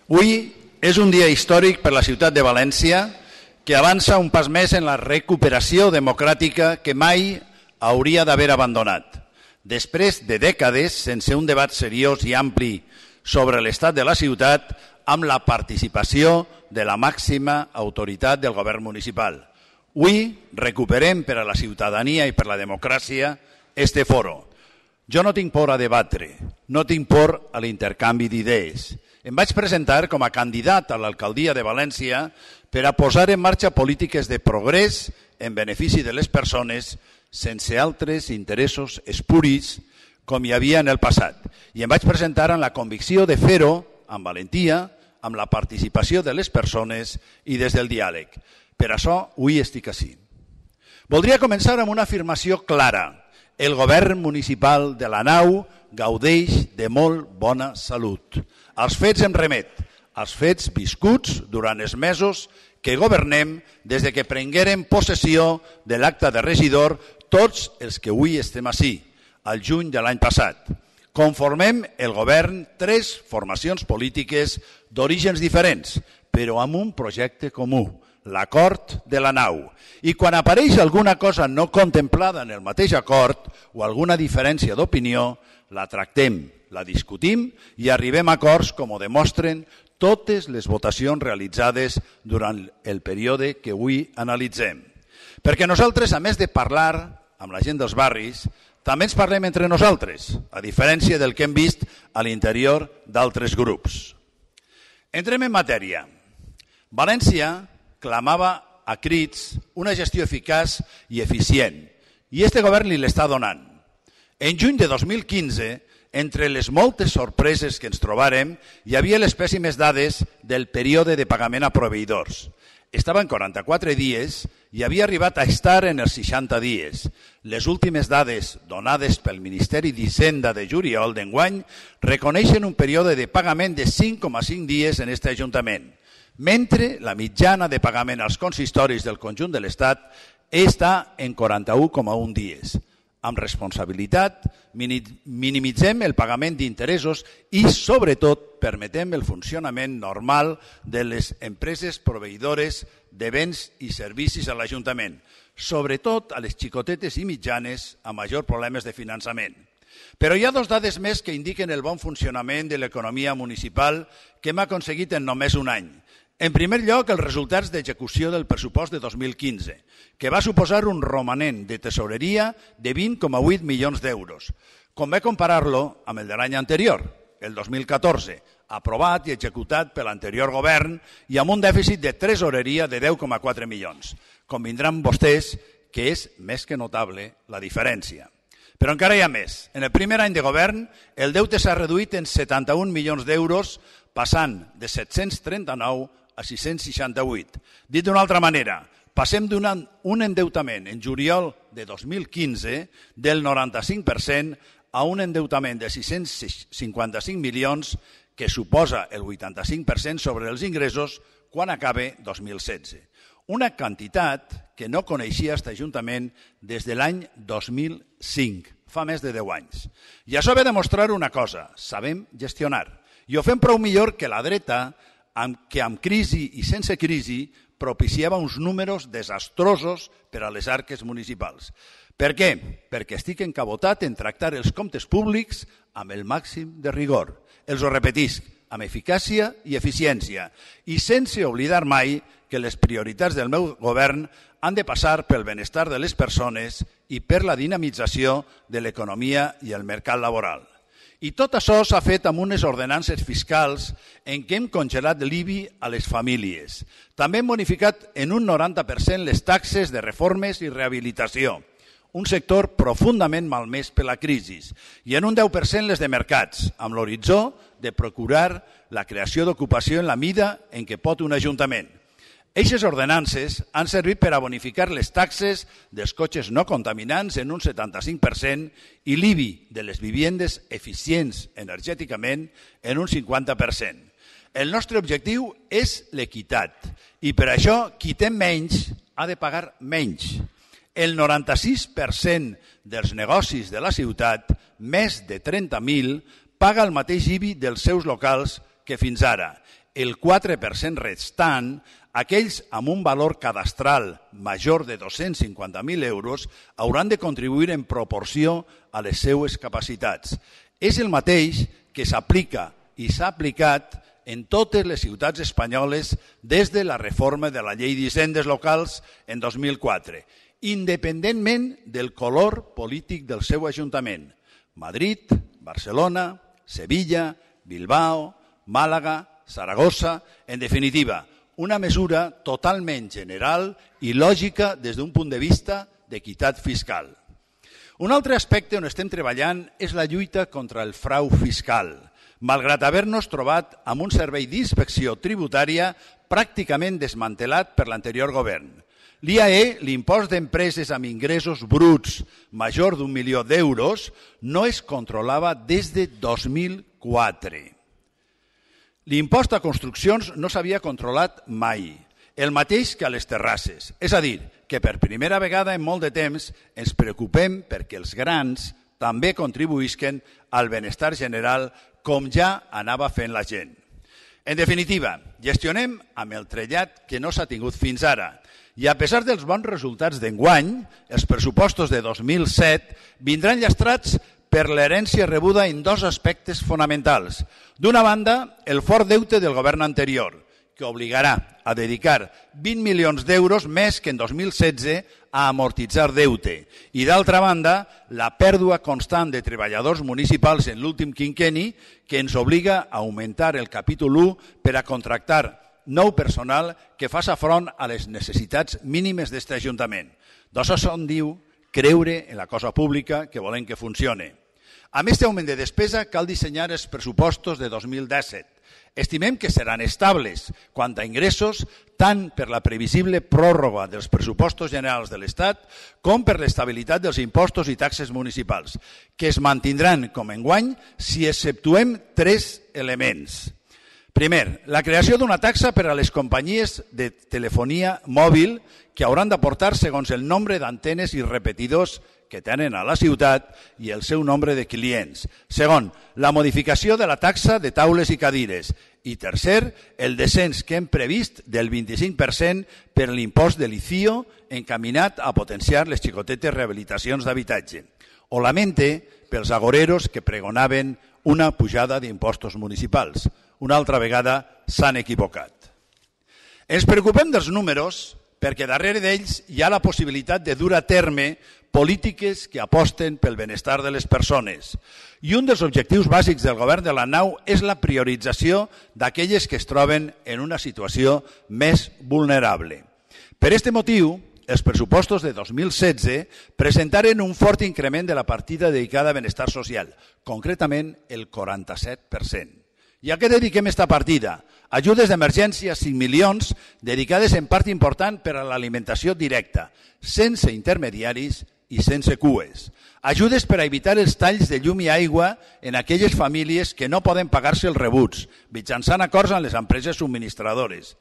Avui és un dia històric per la ciutat de València que avança un pas més en la recuperació democràtica que mai hauria d'haver abandonat. Després de dècades sense un debat seriós i ampli sobre l'estat de la ciutat amb la participació de la màxima autoritat del govern municipal. Avui recuperem per a la ciutadania i per la democràcia este foro. Jo no tinc por a debatre, no tinc por a l'intercanvi d'idees. Em vaig presentar com a candidat a l'alcaldia de València per a posar en marxa polítiques de progrés en benefici de les persones sense altres interessos espuris com hi havia en el passat. I em vaig presentar amb la convicció de fer-ho amb valentia, amb la participació de les persones i des del diàleg. Per això, avui estic ací. Voldria començar amb una afirmació clara. El govern municipal de la Nau gaudeix de molt bona salut. Els fets em remet, als fets viscuts durant els mesos que governem des de que prenguérem possessió de l'acte de regidor tots els que avui estem ací, al juny de l'any passat. Conformem el govern 3 formacions polítiques d'orígens diferents, però amb un projecte comú, l'acord de la Nau. I quan apareix alguna cosa no contemplada en el mateix acord o alguna diferència d'opinió, la tractem, la discutim i arribem a acords com ho demostren totes les votacions realitzades durant el període que avui analitzem. Perquè nosaltres, a més de parlar amb la gent dels barris, també ens parlem entre nosaltres, a diferència del que hem vist a l'interior d'altres grups. Entrem en matèria. València clamava a crits una gestió eficaç i eficient, i este govern li l'està donant. En juny de 2015, entre les moltes sorpreses que ens trobarem, hi havia les pèssimes dades del període de pagament a proveïdors. Estava en 44 dies i havia arribat a estar en els 60 dies. Les últimes dades donades pel Ministeri d'Hisenda de juliol d'enguany reconeixen un període de pagament de 5,5 dies en aquest Ajuntament, mentre la mitjana de pagament als consistoris del conjunt de l'Estat està en 41,1 dies. Amb responsabilitat minimitzem el pagament d'interessos i, sobretot, permetem el funcionament normal de les empreses proveïdores de béns i servicis a l'Ajuntament, sobretot a les xicotetes i mitjanes amb majors problemes de finançament. Però hi ha 2 dades més que indiquen el bon funcionament de l'economia municipal que hem aconseguit en només un any. En primer lloc, els resultats d'execució del pressupost de 2015, que va suposar un romanent de tesoreria de 20,8 milions d'euros. Convé comparar-lo amb el de l'any anterior, el 2014, aprovat i executat per l'anterior govern i amb un dèficit de tresoreria de 10,4 milions. Convindran vostès que és més que notable la diferència. Però encara hi ha més. En el primer any de govern, el deute s'ha reduït en 71 milions d'euros, passant de 739 a 668. Dit d'una altra manera, passem d'un endeutament en juliol de 2015 del 95% a un endeutament de 655 milions que suposa el 85% sobre els ingressos quan acabe 2016. Una quantitat que no coneixia aquest Ajuntament des de l'any 2005, fa més de 10 anys. I això ve a demostrar una cosa, sabem gestionar. I ho fem prou millor que la dreta, que amb crisi i sense crisi propiciava uns números desastrosos per a les arques municipals. Per què? Perquè estic encabotat en tractar els comptes públics amb el màxim de rigor. Els ho repetisc, amb eficàcia i eficiència, i sense oblidar mai que les prioritats del meu govern han de passar pel benestar de les persones i per la dinamització de l'economia i el mercat laboral. I tot això s'ha fet amb unes ordenances fiscals en què hem congelat l'IBI a les famílies. També hem bonificat en un 90% les taxes de reformes i rehabilitació, un sector profundament malmès per la crisi, i en un 10% les de mercats, amb l'horitzó de procurar la creació d'ocupació en la mida en què pot un ajuntament. Eixes ordenances han servit per a bonificar les taxes dels cotxes no contaminants en un 75% i l'IBI de les viviendes eficients energèticament en un 50%. El nostre objectiu és l'equitat i per això qui té menys ha de pagar menys. El 96% dels negocis de la ciutat, més de 30.000, paga el mateix IBI dels seus locals que fins ara. el 4% restant, aquells amb un valor cadastral major de 250.000 euros hauran de contribuir en proporció a les seues capacitats. És el mateix que s'aplica i s'ha aplicat en totes les ciutats espanyoles des de la reforma de la llei d'hisendes locals en 2004, independentment del color polític del seu ajuntament. Madrid, Barcelona, Sevilla, Bilbao, Màlaga, Saragossa, en definitiva, una mesura totalment general i lògica des d'un punt de vista d'equitat fiscal. Un altre aspecte on estem treballant és la lluita contra el frau fiscal, malgrat haver-nos trobat amb un servei d'inspecció tributària pràcticament desmantelat per l'anterior govern. L'IAE, l'impost d'empreses amb ingressos bruts major d'1 milió d'euros, no es controlava des de 2004. L'impost a construccions no s'havia controlat mai, el mateix que a les terrasses. És a dir, que per primera vegada en molt de temps ens preocupem perquè els grans també contribuïsquen al benestar general com ja anava fent la gent. En definitiva, gestionem amb el trellat que no s'ha tingut fins ara i a pesar dels bons resultats d'enguany, els pressupostos de 2007 vindran llastrats per l'herència rebuda en dos aspectes fonamentals. D'una banda, el fort deute del govern anterior, que obligarà a dedicar 20 milions d'euros més que en 2016 a amortitzar deute. I d'altra banda, la pèrdua constant de treballadors municipals en l'últim quinquenni que ens obliga a augmentar el capítol 1 per a contractar nou personal que faça front a les necessitats mínimes d'aquest Ajuntament. D'això se'n diu creure en la cosa pública que volem que funcione. Amb aquest augment de despesa cal dissenyar els pressupostos de 2017. Estimem que seran estables quant a ingressos tant per la previsible pròrroga dels pressupostos generals de l'Estat com per l'estabilitat dels impostos i taxes municipals, que es mantindran com enguany si exceptuem tres elements. Primer, la creació d'una taxa per a les companyies de telefonia mòbil que hauran d'aportar segons el nombre d'antenes i repetidors que tenen a la ciutat i el seu nombre de clients. Segon, la modificació de la taxa de taules i cadires. I tercer, el descens que hem previst del 25% per l'impost de l'ICIO encaminat a potenciar les xicotetes rehabilitacions d'habitatge. Ho lamente pels agoreros que pregonaven una pujada d'impostos municipals. Una altra vegada s'han equivocat. Ens preocupem dels números perquè darrere d'ells hi ha la possibilitat de dur a terme polítiques que aposten pel benestar de les persones. I un dels objectius bàsics del govern de la nau és la priorització d'aquelles que es troben en una situació més vulnerable. Per aquest motiu, els pressupostos de 2016 presentaren un fort increment de la partida dedicada a benestar social, concretament el 47%. I a què dediquem esta partida? Ajudes d'emergència, 5 milions, dedicades en part important per a l'alimentació directa, sense intermediaris i sense cues. Ajudes per a evitar els talls de llum i aigua en aquelles famílies que no poden pagar-se els rebuts, mitjançant acords amb les empreses subministradores.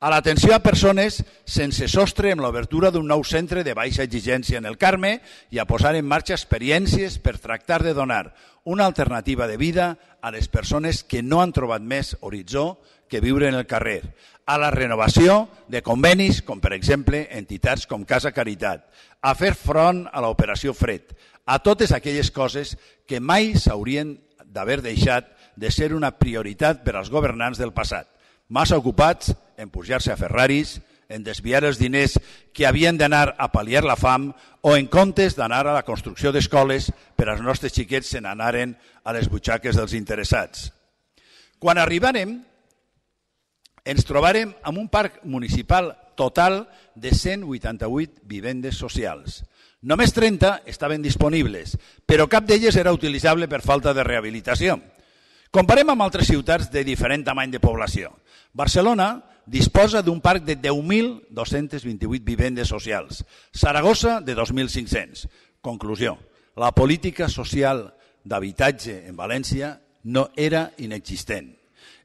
A l'atenció a persones sense sostre amb l'obertura d'un nou centre de baixa exigència en el Carme i a posar en marxa experiències per tractar de donar una alternativa de vida a les persones que no han trobat més horitzó que viure en el carrer. A la renovació de convenis, com per exemple entitats com Casa Caritat, a fer front a l'operació Fred, a totes aquelles coses que mai s'haurien d'haver deixat de ser una prioritat per als governants del passat, massa ocupats en pujar-se a Ferraris, en desviar els diners que havien d'anar a pal·liar la fam o en comptes d'anar a la construcció d'escoles per als nostres xiquets se n'anaren a les butxaques dels interessats. Quan arribarem, ens trobarem amb un parc municipal total de 188 vivendes socials. Només 30 estaven disponibles, però cap d'elles era utilitzable per falta de rehabilitació. Comparem amb altres ciutats de diferent tamany de població. Barcelona disposa d'un parc de 10.228 vivendes socials, Saragossa de 2.500. Conclusió, la política social d'habitatge en València no era inexistent.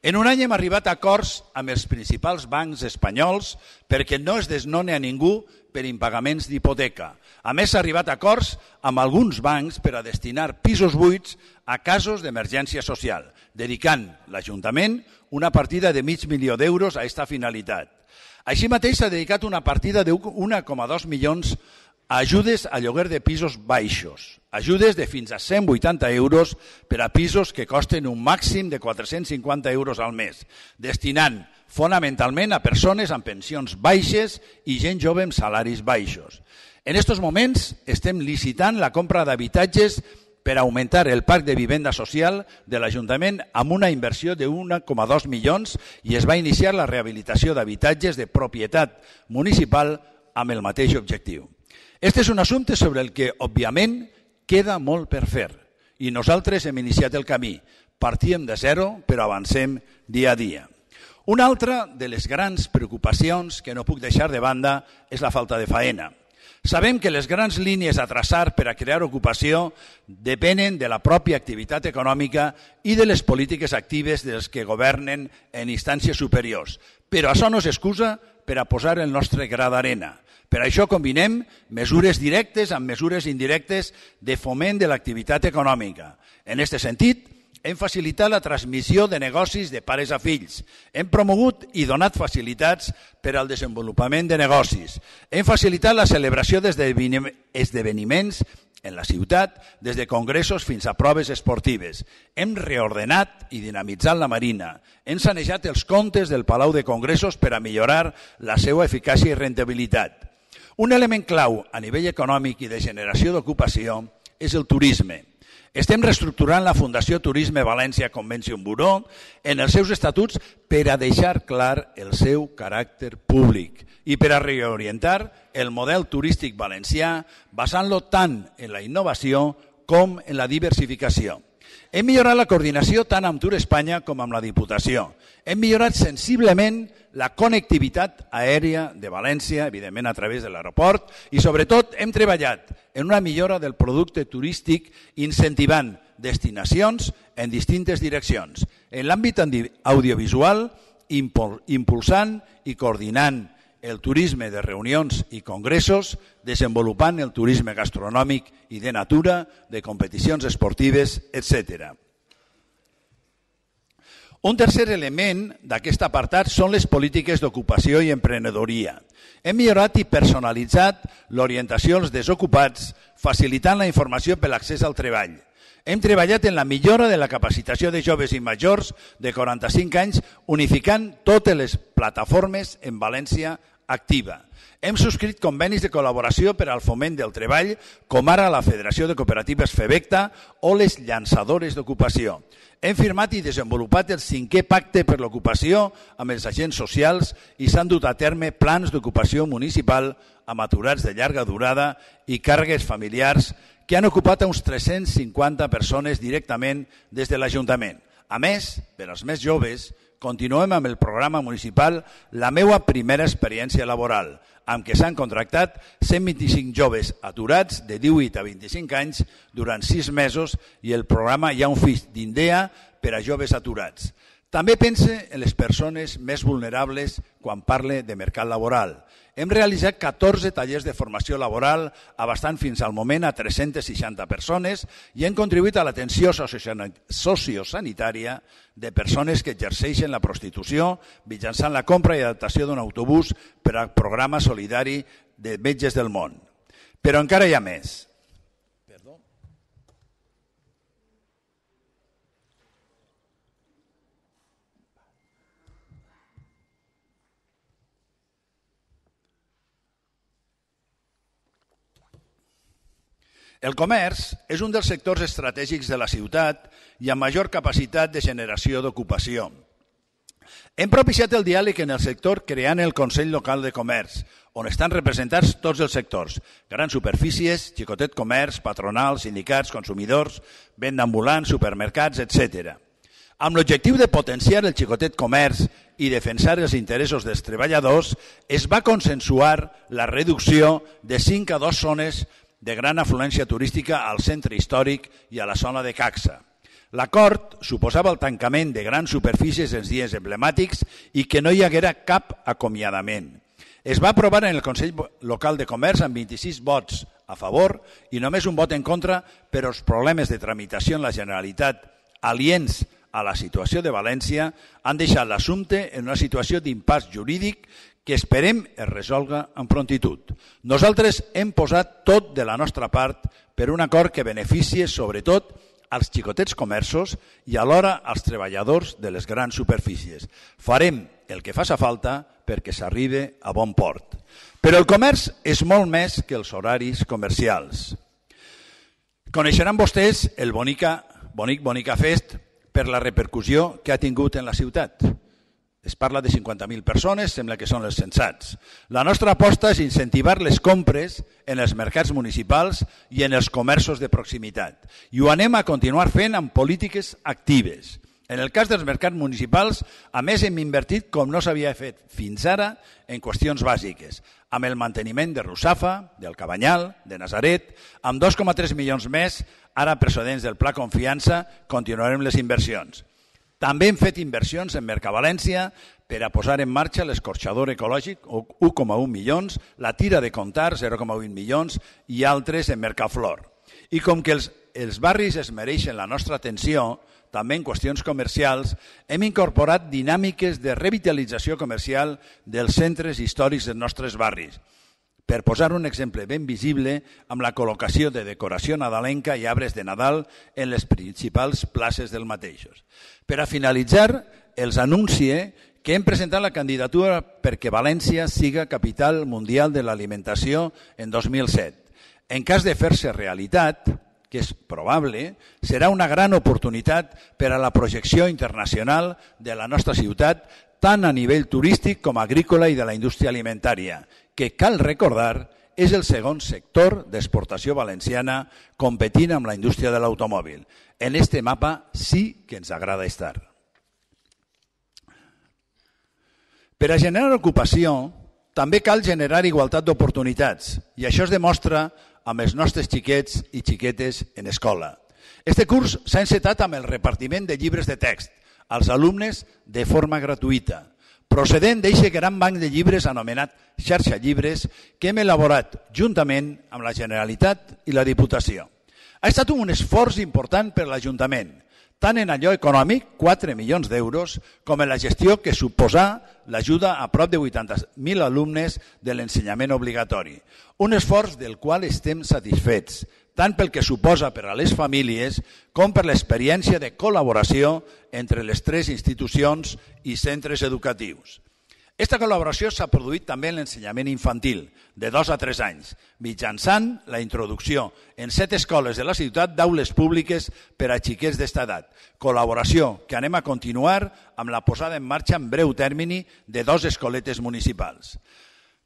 En un any hem arribat a acords amb els principals bancs espanyols perquè no es desnone a ningú per impagaments d'hipoteca. A més, s'ha arribat a acords amb alguns bancs per a destinar pisos buits a casos d'emergència social. dedicant l'Ajuntament una partida de $500.000 a aquesta finalitat. Així mateix s'ha dedicat una partida de 1,2 milions a ajudes a lloguer de pisos baixos, ajudes de fins a €180 per a pisos que costen un màxim de €450 al mes, destinant fonamentalment a persones amb pensions baixes i gent jove amb salaris baixos. En aquests moments estem licitant la compra d'habitatges per augmentar el parc de vivenda social de l'Ajuntament amb una inversió de 1,2 milions i es va iniciar la rehabilitació d'habitatges de propietat municipal amb el mateix objectiu. Este és un assumpte sobre el que, òbviament, queda molt per fer i nosaltres hem iniciat el camí. Partíem de zero, però avancem dia a dia. Una altra de les grans preocupacions que no puc deixar de banda és la falta de faena. Sabem que les grans línies a traçar per a crear ocupació depenen de la pròpia activitat econòmica i de les polítiques actives dels que governen en instàncies superiors, però això no és excusa per a posar el nostre gra d'arena. Per això combinem mesures directes amb mesures indirectes de foment de l'activitat econòmica. En aquest sentit, hem facilitat la transmissió de negocis de pares a fills. Hem promogut i donat facilitats per al desenvolupament de negocis. Hem facilitat la celebració d'esdeveniments en la ciutat, des de congressos fins a proves esportives. Hem reordenat i dinamitzat la Marina. Hem sanejat els comptes del Palau de Congressos per a millorar la seva eficàcia i rendibilitat. Un element clau a nivell econòmic i de generació d'ocupació és el turisme. Estem reestructurant la Fundació Turisme València Convention Bureau en els seus estatuts per a deixar clar el seu caràcter públic i per a reorientar el model turístic valencià basant-lo tant en la innovació com en la diversificació. Hem millorat la coordinació tant amb Tour Espanya com amb la Diputació. Hem millorat sensiblement la connectivitat aèria de València, evidentment a través de l'aeroport, i sobretot hem treballat en una millora del producte turístic incentivant destinacions en distintes direccions. En l'àmbit audiovisual, impulsant i coordinant el turisme de reunions i congressos, desenvolupant el turisme gastronòmic i de natura, de competicions esportives, etc. Un tercer element d'aquest apartat són les polítiques d'ocupació i emprenedoria. Hem millorat i personalitzat l'orientació als desocupats, facilitant la informació per l'accés al treball. Hem treballat en la millora de la capacitació de joves i majors de 45 anys, unificant totes les plataformes en València Activa. Hem subscrit convenis de col·laboració per al foment del treball, com ara la Federació de Cooperatives FEBECTA o les llançadores d'ocupació. Hem firmat i desenvolupat el 5è pacte per l'ocupació amb els agents socials i s'han dut a terme plans d'ocupació municipal amb aturats de llarga durada i càrregues familiars que han ocupat a uns 350 persones directament des de l'Ajuntament. A més, per als més joves, continuem amb el programa municipal La meua primera experiència laboral, amb què s'han contractat 125 joves aturats de 18 a 25 anys durant 6 mesos i el programa Hi ha un fill d'Indea per a joves aturats. També pense en les persones més vulnerables quan parle de mercat laboral. Hem realitzat 14 tallers de formació laboral abastant fins al moment a 360 persones i hem contribuït a l'atenció sociosanitària de persones que exerceixen la prostitució mitjançant la compra i adaptació d'un autobús per al programa solidari de Metges del Món. Però encara hi ha més. El comerç és un dels sectors estratègics de la ciutat i amb major capacitat de generació d'ocupació. Hem propiciat el diàleg en el sector creant el Consell Local de Comerç, on estan representats tots els sectors, grans superfícies, xicotet comerç, patronals, sindicats, consumidors, venda ambulant, supermercats, etc. Amb l'objectiu de potenciar el xicotet comerç i defensar els interessos dels treballadors, es va consensuar la reducció de 5 a 2 zones de gran afluència turística al centre històric i a la zona de Caxa. L'acord suposava el tancament de grans superfícies en dies emblemàtics i que no hi haguera cap acomiadament. Es va aprovar en el Consell Local de Comerç amb 26 vots a favor i només un vot en contra per als problemes de tramitació en la Generalitat aliens a la situació de València han deixat l'assumpte en una situació d'impàs jurídic que esperem es resolga amb prontitud. Nosaltres hem posat tot de la nostra part per un acord que beneficie sobretot als xicotets comerços i alhora als treballadors de les grans superfícies. Farem el que faci falta perquè s'arribi a bon port. Però el comerç és molt més que els horaris comercials. Coneixeran vostès el Bonica Fest per la repercussió que ha tingut en la ciutat. Es parla de 50.000 persones, sembla que són els censats. La nostra aposta és incentivar les compres en els mercats municipals i en els comerços de proximitat. I ho anem a continuar fent amb polítiques actives. En el cas dels mercats municipals, a més hem invertit com no s'havia fet fins ara en qüestions bàsiques, amb el manteniment de Russafa, del Cabanyal, de Nazaret, amb 2,3 milions més, ara procedents del Pla Confiança, continuarem les inversions. També hem fet inversions en Mercavalència per a posar en marxa l'escorxador ecològic, 1,1 milions, la tira de Contar, 0,8 milions, i altres en Mercaflor. I com que els barris es mereixen la nostra atenció, també en qüestions comercials, hem incorporat dinàmiques de revitalització comercial dels centres històrics dels nostres barris. Per posar un exemple ben visible, amb la col·locació de decoració nadalenca i arbres de Nadal en les principals places del mateixos. Per a finalitzar, els anuncie que hem presentat la candidatura perquè València siga capital mundial de l'alimentació en 2007. En cas de fer-se realitat, que és probable, serà una gran oportunitat per a la projecció internacional de la nostra ciutat, tant a nivell turístic com agrícola i de la indústria alimentària, que, cal recordar, és el segon sector d'exportació valenciana competint amb la indústria de l'automòbil. En este mapa sí que ens agrada estar. Per a generar ocupació, també cal generar igualtat d'oportunitats, i això es demostra amb els nostres xiquets i xiquetes en escola. Este curs s'ha encetat amb el repartiment de llibres de text als alumnes de forma gratuïta, procedent d'aquest gran banc de llibres anomenat Xarxa Llibres que hem elaborat juntament amb la Generalitat i la Diputació. Ha estat un esforç important per l'Ajuntament, tant en allò econòmic, 4 milions d'euros, com en la gestió que suposa l'ajuda a prop de 80.000 alumnes de l'ensenyament obligatori. Un esforç del qual estem satisfets, tant pel que suposa per a les famílies com per l'experiència de col·laboració entre les tres institucions i centres educatius. Aquesta col·laboració s'ha produït també en l'ensenyament infantil, de 2 a 3 anys, mitjançant la introducció en 7 escoles de la ciutat d'aules públiques per a xiquets d'esta edat. Col·laboració que anem a continuar amb la posada en marxa en breu termini de 2 escoletes municipals.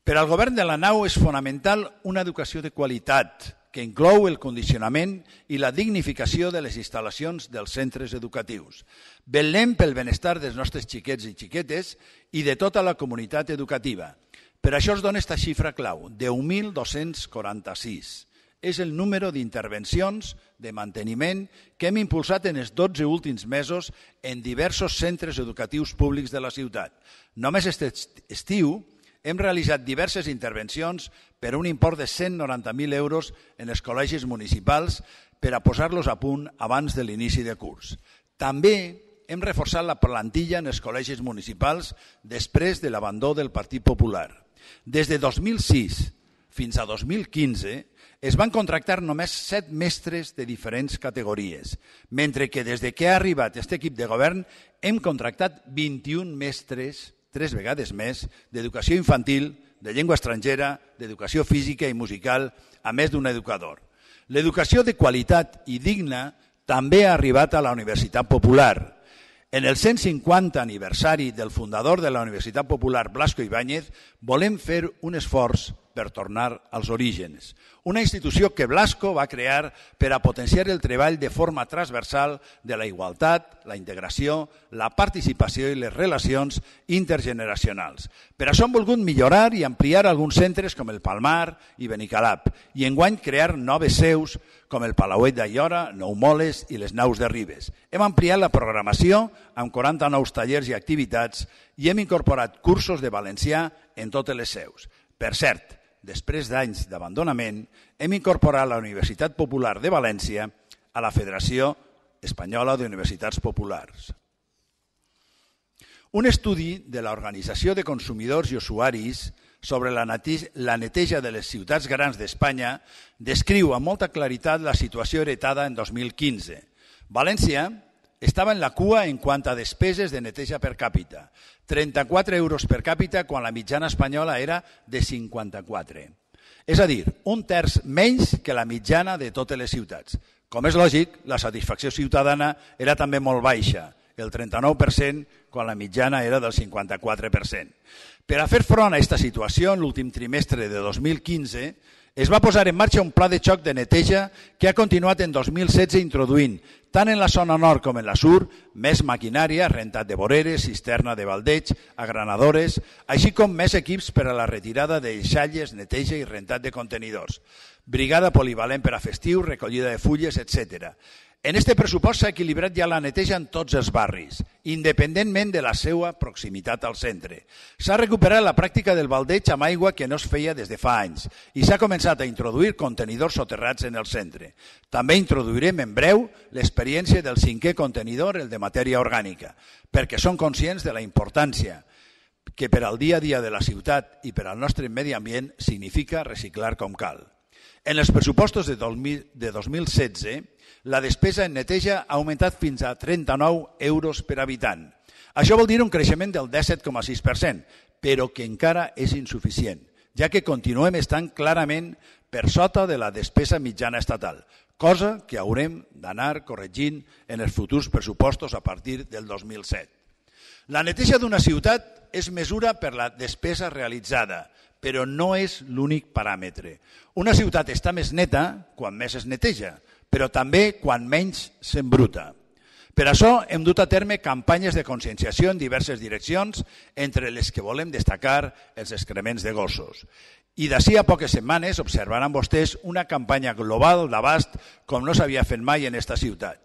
Per al govern de la nau és fonamental una educació de qualitat, que inclou el condicionament i la dignificació de les instal·lacions dels centres educatius. Vetllem pel benestar dels nostres xiquets i xiquetes i de tota la comunitat educativa. Per això es dona aquesta xifra clau, 10.246. És el número d'intervencions de manteniment que hem impulsat en els 12 últims mesos en diversos centres educatius públics de la ciutat. Només aquest estiu hem realitzat diverses intervencions per un import de 190.000 euros en els col·legis municipals per a posar-los a punt abans de l'inici de curs. També hem reforçat la plantilla en els col·legis municipals després de l'abandó del Partit Popular. Des de 2006 fins a 2015 es van contractar només 7 mestres de diferents categories, mentre que des que ha arribat aquest equip de govern hem contractat 21 mestres, 3 vegades més, d'educació infantil, de llengua estrangera, d'educació física i musical, a més d'un educador. L'educació de qualitat i digna també ha arribat a la Universitat Popular. En el 150 aniversari del fundador de la Universitat Popular, Blasco Ibáñez, volem fer un esforç per tornar als orígens. Una institució que Blasco va crear per a potenciar el treball de forma transversal de la igualtat, la integració, la participació i les relacions intergeneracionals. Per això hem volgut millorar i ampliar alguns centres com el Palmar i Benicalap i enguany crear noves seus com el Palauet d'Aiora, Nou Moles i les Naus de Ribes. Hem ampliat la programació amb 40 nous tallers i activitats i hem incorporat cursos de valencià en totes les seus. Per cert, després d'anys d'abandonament, hem incorporat la Universitat Popular de València a la Federació Espanyola d'Universitats Populars. Un estudi de l'Organització de Consumidors i Usuaris sobre la neteja de les ciutats grans d'Espanya descriu amb molta claritat la situació heretada en 2015. València estava en la cua en quant a despeses de neteja per càpita, 34 euros per càpita quan la mitjana espanyola era de 54. És a dir, un terç menys que la mitjana de totes les ciutats. Com és lògic, la satisfacció ciutadana era també molt baixa, el 39%, quan la mitjana era del 54%. Per a fer front a aquesta situació, en l'últim trimestre de 2015, es va posar en marxa un pla de xoc de neteja que ha continuat en 2016 introduint, tant en la zona nord com en la sur, més maquinària, rentat de voreres, cisterna de baldeig, agranadores, així com més equips per a la retirada de deixalles, neteja i rentat de contenidors, brigada polivalent per a festiu, recollida de fulles, etc. En este pressupost s'ha equilibrat ja la neteja en tots els barris, independentment de la seva proximitat al centre. S'ha recuperat la pràctica del baldeig amb aigua que no es feia des de fa anys i s'ha començat a introduir contenidors soterrats en el centre. També introduirem en breu l'experiència del 5è contenidor, el de matèria orgànica, perquè som conscients de la importància que per al dia a dia de la ciutat i per al nostre medi ambient significa reciclar com cal. En els pressupostos de 2016, la despesa en neteja ha augmentat fins a 39 euros per habitant. Això vol dir un creixement del 17,6%, però que encara és insuficient, ja que continuem estant clarament per sota de la despesa mitjana estatal, cosa que haurem d'anar corregint en els futurs pressupostos a partir del 2007. La neteja d'una ciutat es mesura per la despesa realitzada, però no és l'únic paràmetre. Una ciutat està més neta quan més es neteja, però també quan menys s'embruta. Per això hem dut a terme campanyes de conscienciació en diverses direccions, entre les que volem destacar els excrements de gossos. I d'ací a poques setmanes observaran vostès una campanya global d'abast com no s'havia fet mai en aquesta ciutat.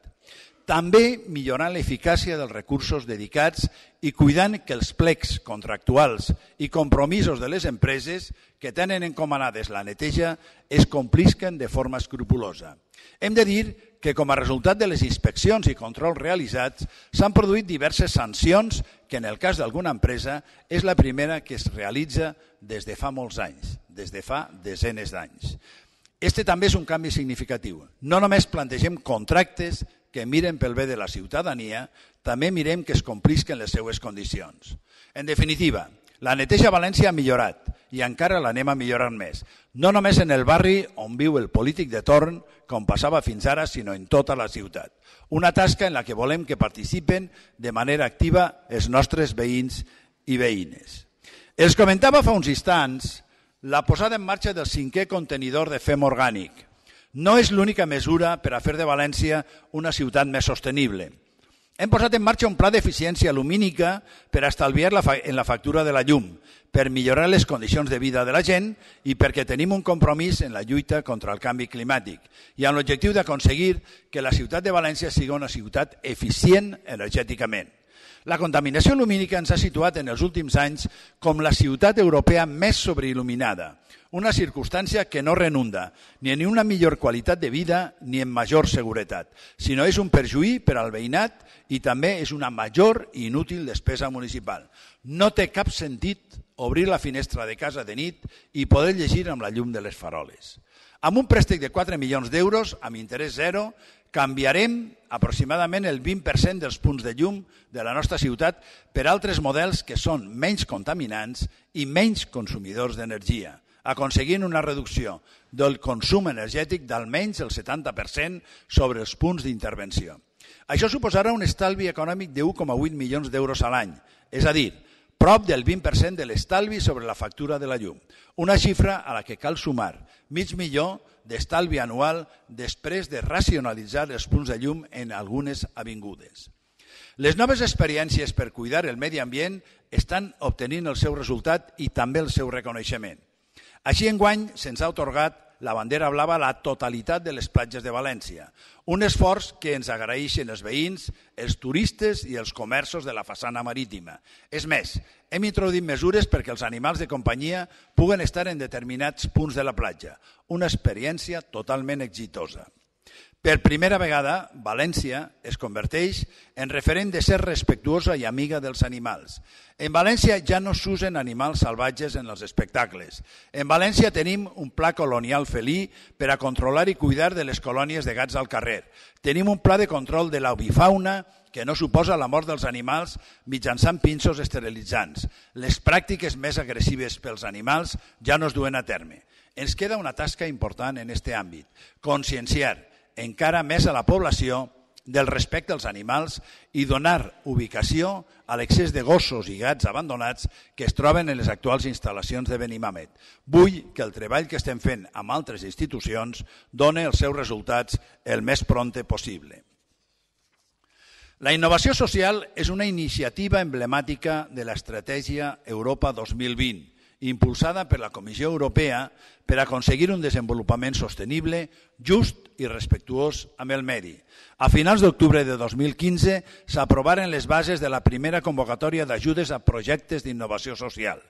També millorant l'eficàcia dels recursos dedicats i cuidant que els plecs contractuals i compromisos de les empreses que tenen encomanades la neteja es complisquen de forma escrupulosa. Hem de dir que com a resultat de les inspeccions i controls realitzats s'han produït diverses sancions que en el cas d'alguna empresa és la primera que es realitza des de fa molts anys, des de fa desenes d'anys. Este també és un canvi significatiu. No només plantegem contractes que miren pel bé de la ciutadania, també mirem que es complisquen les seues condicions. En definitiva, la neteja a València ha millorat i encara l'anem a millorar més. No només en el barri on viu el polític de torn, com passava fins ara, sinó en tota la ciutat. Una tasca en la que volem que participen de manera activa els nostres veïns i veïnes. Els comentava fa uns instants la posada en marxa del 5è contenidor de fem orgànic. No és l'única mesura per a fer de València una ciutat més sostenible. Hem posat en marxa un pla d'eficiència lumínica per a estalviar en la factura de la llum, per millorar les condicions de vida de la gent i perquè tenim un compromís en la lluita contra el canvi climàtic i amb l'objectiu d'aconseguir que la ciutat de València sigui una ciutat eficient energèticament. La contaminació lumínica ens ha situat en els últims anys com la ciutat europea més sobreil·luminada, una circumstància que no renunda ni en una millor qualitat de vida ni en major seguretat, sinó és un perjuí per al veïnat i també és una major i inútil despesa municipal. No té cap sentit obrir la finestra de casa de nit i poder llegir amb la llum de les faroles. Amb un préstec de 4 milions d'euros, amb interès zero, canviarem aproximadament el 20% dels punts de llum de la nostra ciutat per altres models que són menys contaminants i menys consumidors d'energia, aconseguint una reducció del consum energètic d'almenys el 70% sobre els punts d'intervenció. Això suposarà un estalvi econòmic de 1,8 milions d'euros a l'any, és a dir, prop del 20% de l'estalvi sobre la factura de la llum, una xifra a la que cal sumar $500,000 d'estalvi anual després de racionalitzar els punts de llum en algunes avingudes. Les noves experiències per cuidar el medi ambient estan obtenint el seu resultat i també el seu reconeixement. Així, enguany, se'ns ha atorgat la bandera blava a la totalitat de les platges de València, un esforç que ens agraeixen els veïns, els turistes i els comerços de la façana marítima. És més, hem introduït mesures perquè els animals de companyia puguen estar en determinats punts de la platja, una experiència totalment exitosa. Per primera vegada, València es converteix en referent de ser respectuosa i amiga dels animals. En València ja no s'usen animals salvatges en els espectacles. En València tenim un pla colonial felí per a controlar i cuidar de les colònies de gats al carrer. Tenim un pla de control de l'avifauna que no suposa la mort dels animals mitjançant pinços esterilitzants. Les pràctiques més agressives pels animals ja no es duen a terme. Ens queda una tasca important en aquest àmbit, conscienciar encara més a la població del respecte als animals i donar ubicació a l'excés de gossos i gats abandonats que es troben en les actuals instal·lacions de Benimàmet. Vull que el treball que estem fent amb altres institucions doni els seus resultats el més prompte possible. La innovació social és una iniciativa emblemàtica de l'estratègia Europa 2020, impulsada per la Comissió Europea per aconseguir un desenvolupament sostenible, just i respectuós amb el medi. A finals d'octubre de 2015 s'aprovaren les bases de la primera convocatòria d'ajudes a projectes d'innovació social.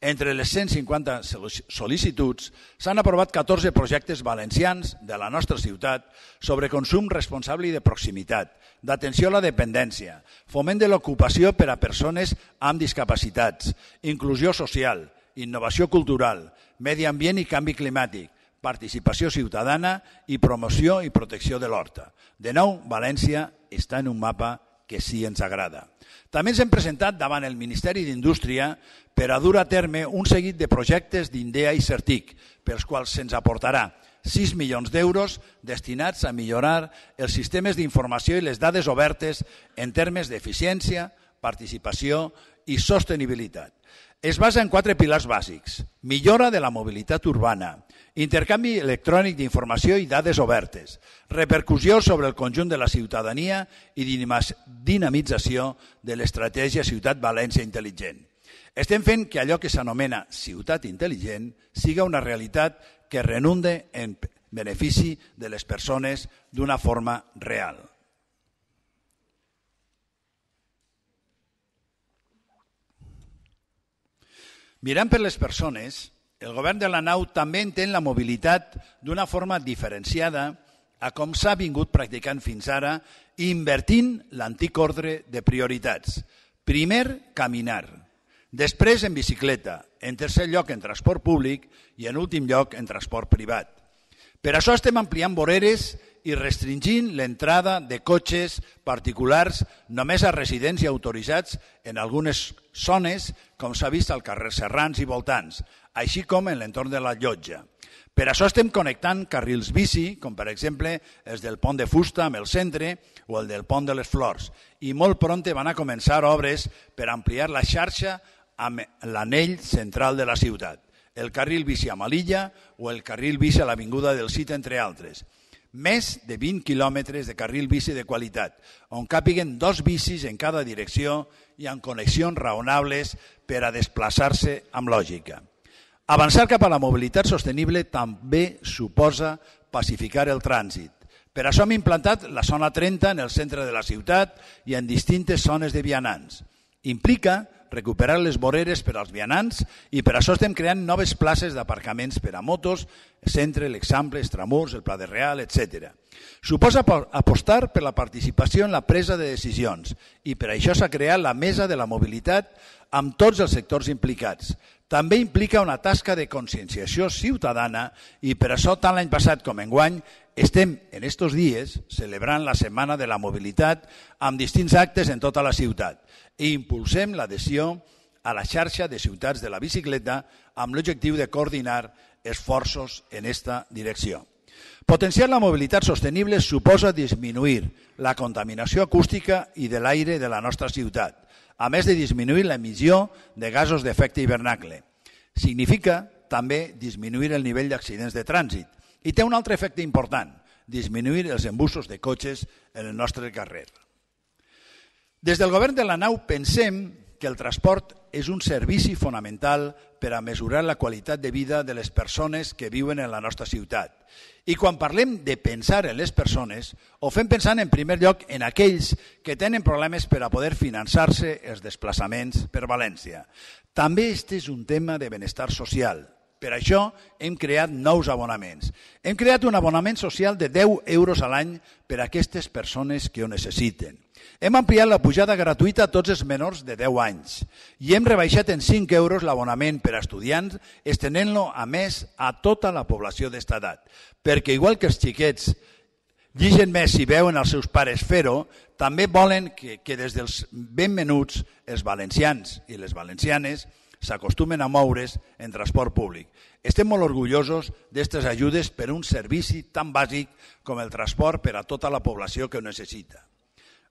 Entre les 150 sol·licituds s'han aprovat 14 projectes valencians de la nostra ciutat sobre consum responsable i de proximitat, d'atenció a la dependència, foment de l'ocupació per a persones amb discapacitats, inclusió social, innovació cultural, medi ambient i canvi climàtic, participació ciutadana i promoció i protecció de l'horta. De nou, València està en un mapa que sí ens agrada. També ens hem presentat davant el Ministeri d'Indústria per a dur a terme un seguit de projectes d'INDEA i CERTIC, pels quals se'ns aportarà 6 milions d'euros destinats a millorar els sistemes d'informació i les dades obertes en termes d'eficiència, participació i sostenibilitat. Es basa en 4 pilars bàsics: millora de la mobilitat urbana, intercanvi electrònic d'informació i dades obertes, repercussió sobre el conjunt de la ciutadania i dinamització de l'estratègia Ciutat València Intel·ligent. Estem fent que allò que s'anomena ciutat intel·ligent siga una realitat que redunde en benefici de les persones d'una forma real. Mirant per les persones, el govern de la nau també entén la mobilitat d'una forma diferenciada a com s'ha vingut practicant fins ara, invertint l'antic ordre de prioritats. Primer, caminar. Després, en bicicleta. En tercer lloc, en transport públic i en últim lloc, en transport privat. Per això estem ampliant voreres i restringint l'entrada de cotxes particulars només a residents i autoritzats en algunes zones, com s'ha vist al carrer Serrans i voltants, així com en l'entorn de la Llotja. Per això estem connectant carrils bici, com per exemple els del Pont de Fusta amb el centre o el del Pont de les Flors, i molt prompte van a començar obres per ampliar la xarxa amb l'anell central de la ciutat, el carril bici a Malilla o el carril bici a l'Avinguda del Cid, entre altres. Més de 20 quilòmetres de carril bici de qualitat, on càpiguen 2 bicis en cada direcció i amb connexions raonables per a desplaçar-se amb lògica. Avançar cap a la mobilitat sostenible també suposa pacificar el trànsit. Per això hem implantat la zona 30 en el centre de la ciutat i en distintes zones de vianants. Implica recuperar les voreres per als vianants i per això estem creant noves places d'aparcaments per a motos, Centre, l'Eixample, Estramurs, el Pla de Real, etc. Suposa apostar per la participació en la presa de decisions i per això s'ha creat la Mesa de la Mobilitat amb tots els sectors implicats. També implica una tasca de conscienciació ciutadana i per això tant l'any passat com enguany estem en estos dies celebrant la Setmana de la Mobilitat amb distints actes en tota la ciutat i impulsem l'adhesió a la xarxa de ciutats de la bicicleta amb l'objectiu de coordinar esforços en esta direcció. Potenciar la mobilitat sostenible suposa disminuir la contaminació acústica i de l'aire de la nostra ciutat, a més de disminuir l'emissió de gasos d'efecte hivernacle. Significa també disminuir el nivell d'accidents de trànsit i té un altre efecte important, disminuir els embussos de cotxes en el nostre carrer. Des del govern de la nau pensem que el transport és un servici fonamental per a mesurar la qualitat de vida de les persones que viuen en la nostra ciutat. I quan parlem de pensar en les persones, ho fem pensant en primer lloc en aquells que tenen problemes per a poder finançar-se els desplaçaments per València. També este és un tema de benestar social Per això hem creat nous abonaments. Hem creat un abonament social de 10 euros a l'any per a aquestes persones que ho necessiten. Hem ampliat la pujada gratuïta a tots els menors de 10 anys i hem rebaixat en 5 euros l'abonament per a estudiants, estenent-lo a més a tota la població d'esta edat. Perquè igual que els xiquets lligen més si veuen els seus pares fer-ho, també volen que des dels ben menuts els valencians i les valencianes s'acostumen a moure's en transport públic. Estem molt orgullosos d'aquestes ajudes per un servici tan bàsic com el transport per a tota la població que ho necessita.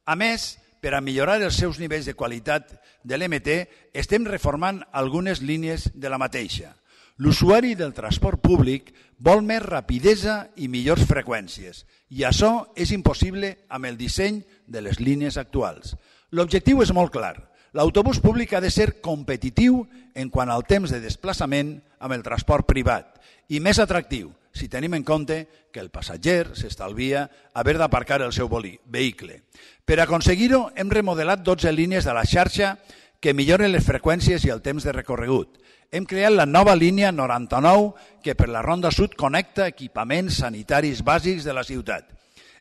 A més, per a millorar els seus nivells de qualitat de l'MT, estem reformant algunes línies de la mateixa. L'usuari del transport públic vol més rapidesa i millors freqüències i això és impossible amb el disseny de les línies actuals. L'objectiu és molt clar. L'autobús públic ha de ser competitiu en quant al temps de desplaçament amb el transport privat i més atractiu si tenim en compte que el passatger s'estalvia haver d'aparcar el seu vehicle. Per aconseguir-ho hem remodelat 12 línies de la xarxa que milloren les freqüències i el temps de recorregut. Hem creat la nova línia 99 que per la Ronda Sud connecta equipaments sanitaris bàsics de la ciutat.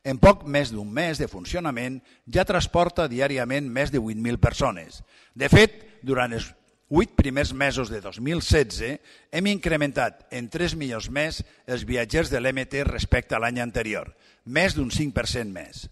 En poc més d'un mes de funcionament ja transporta diàriament més de 8.000 persones. De fet, durant els 8 primers mesos de 2016 hem incrementat en 3 milions més els viatgers de l'MT respecte a l'any anterior, més d'un 5% més.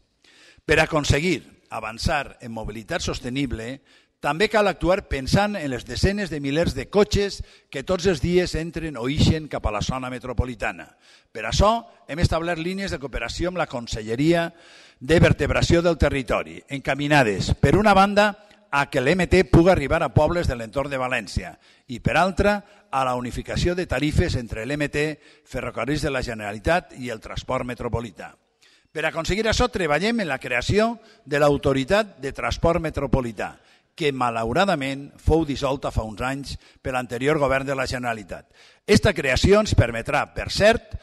Per aconseguir avançar en mobilitat sostenible, també cal actuar pensant en les desenes de milers de cotxes que tots els dies entren o ixen cap a la zona metropolitana. Per això hem establert línies de cooperació amb la Conselleria de Vertebració del Territori, encaminades, per una banda, a que l'MT pugui arribar a pobles de l'entorn de València i, per altra, a la unificació de tarifes entre l'MT, Ferrocarrils de la Generalitat i el transport metropolità. Per aconseguir això, treballem en la creació de l'Autoritat de Transport Metropolità, que malauradament fou dissolta fa uns anys per l'anterior govern de la Generalitat. Esta creació ens permetrà, per cert,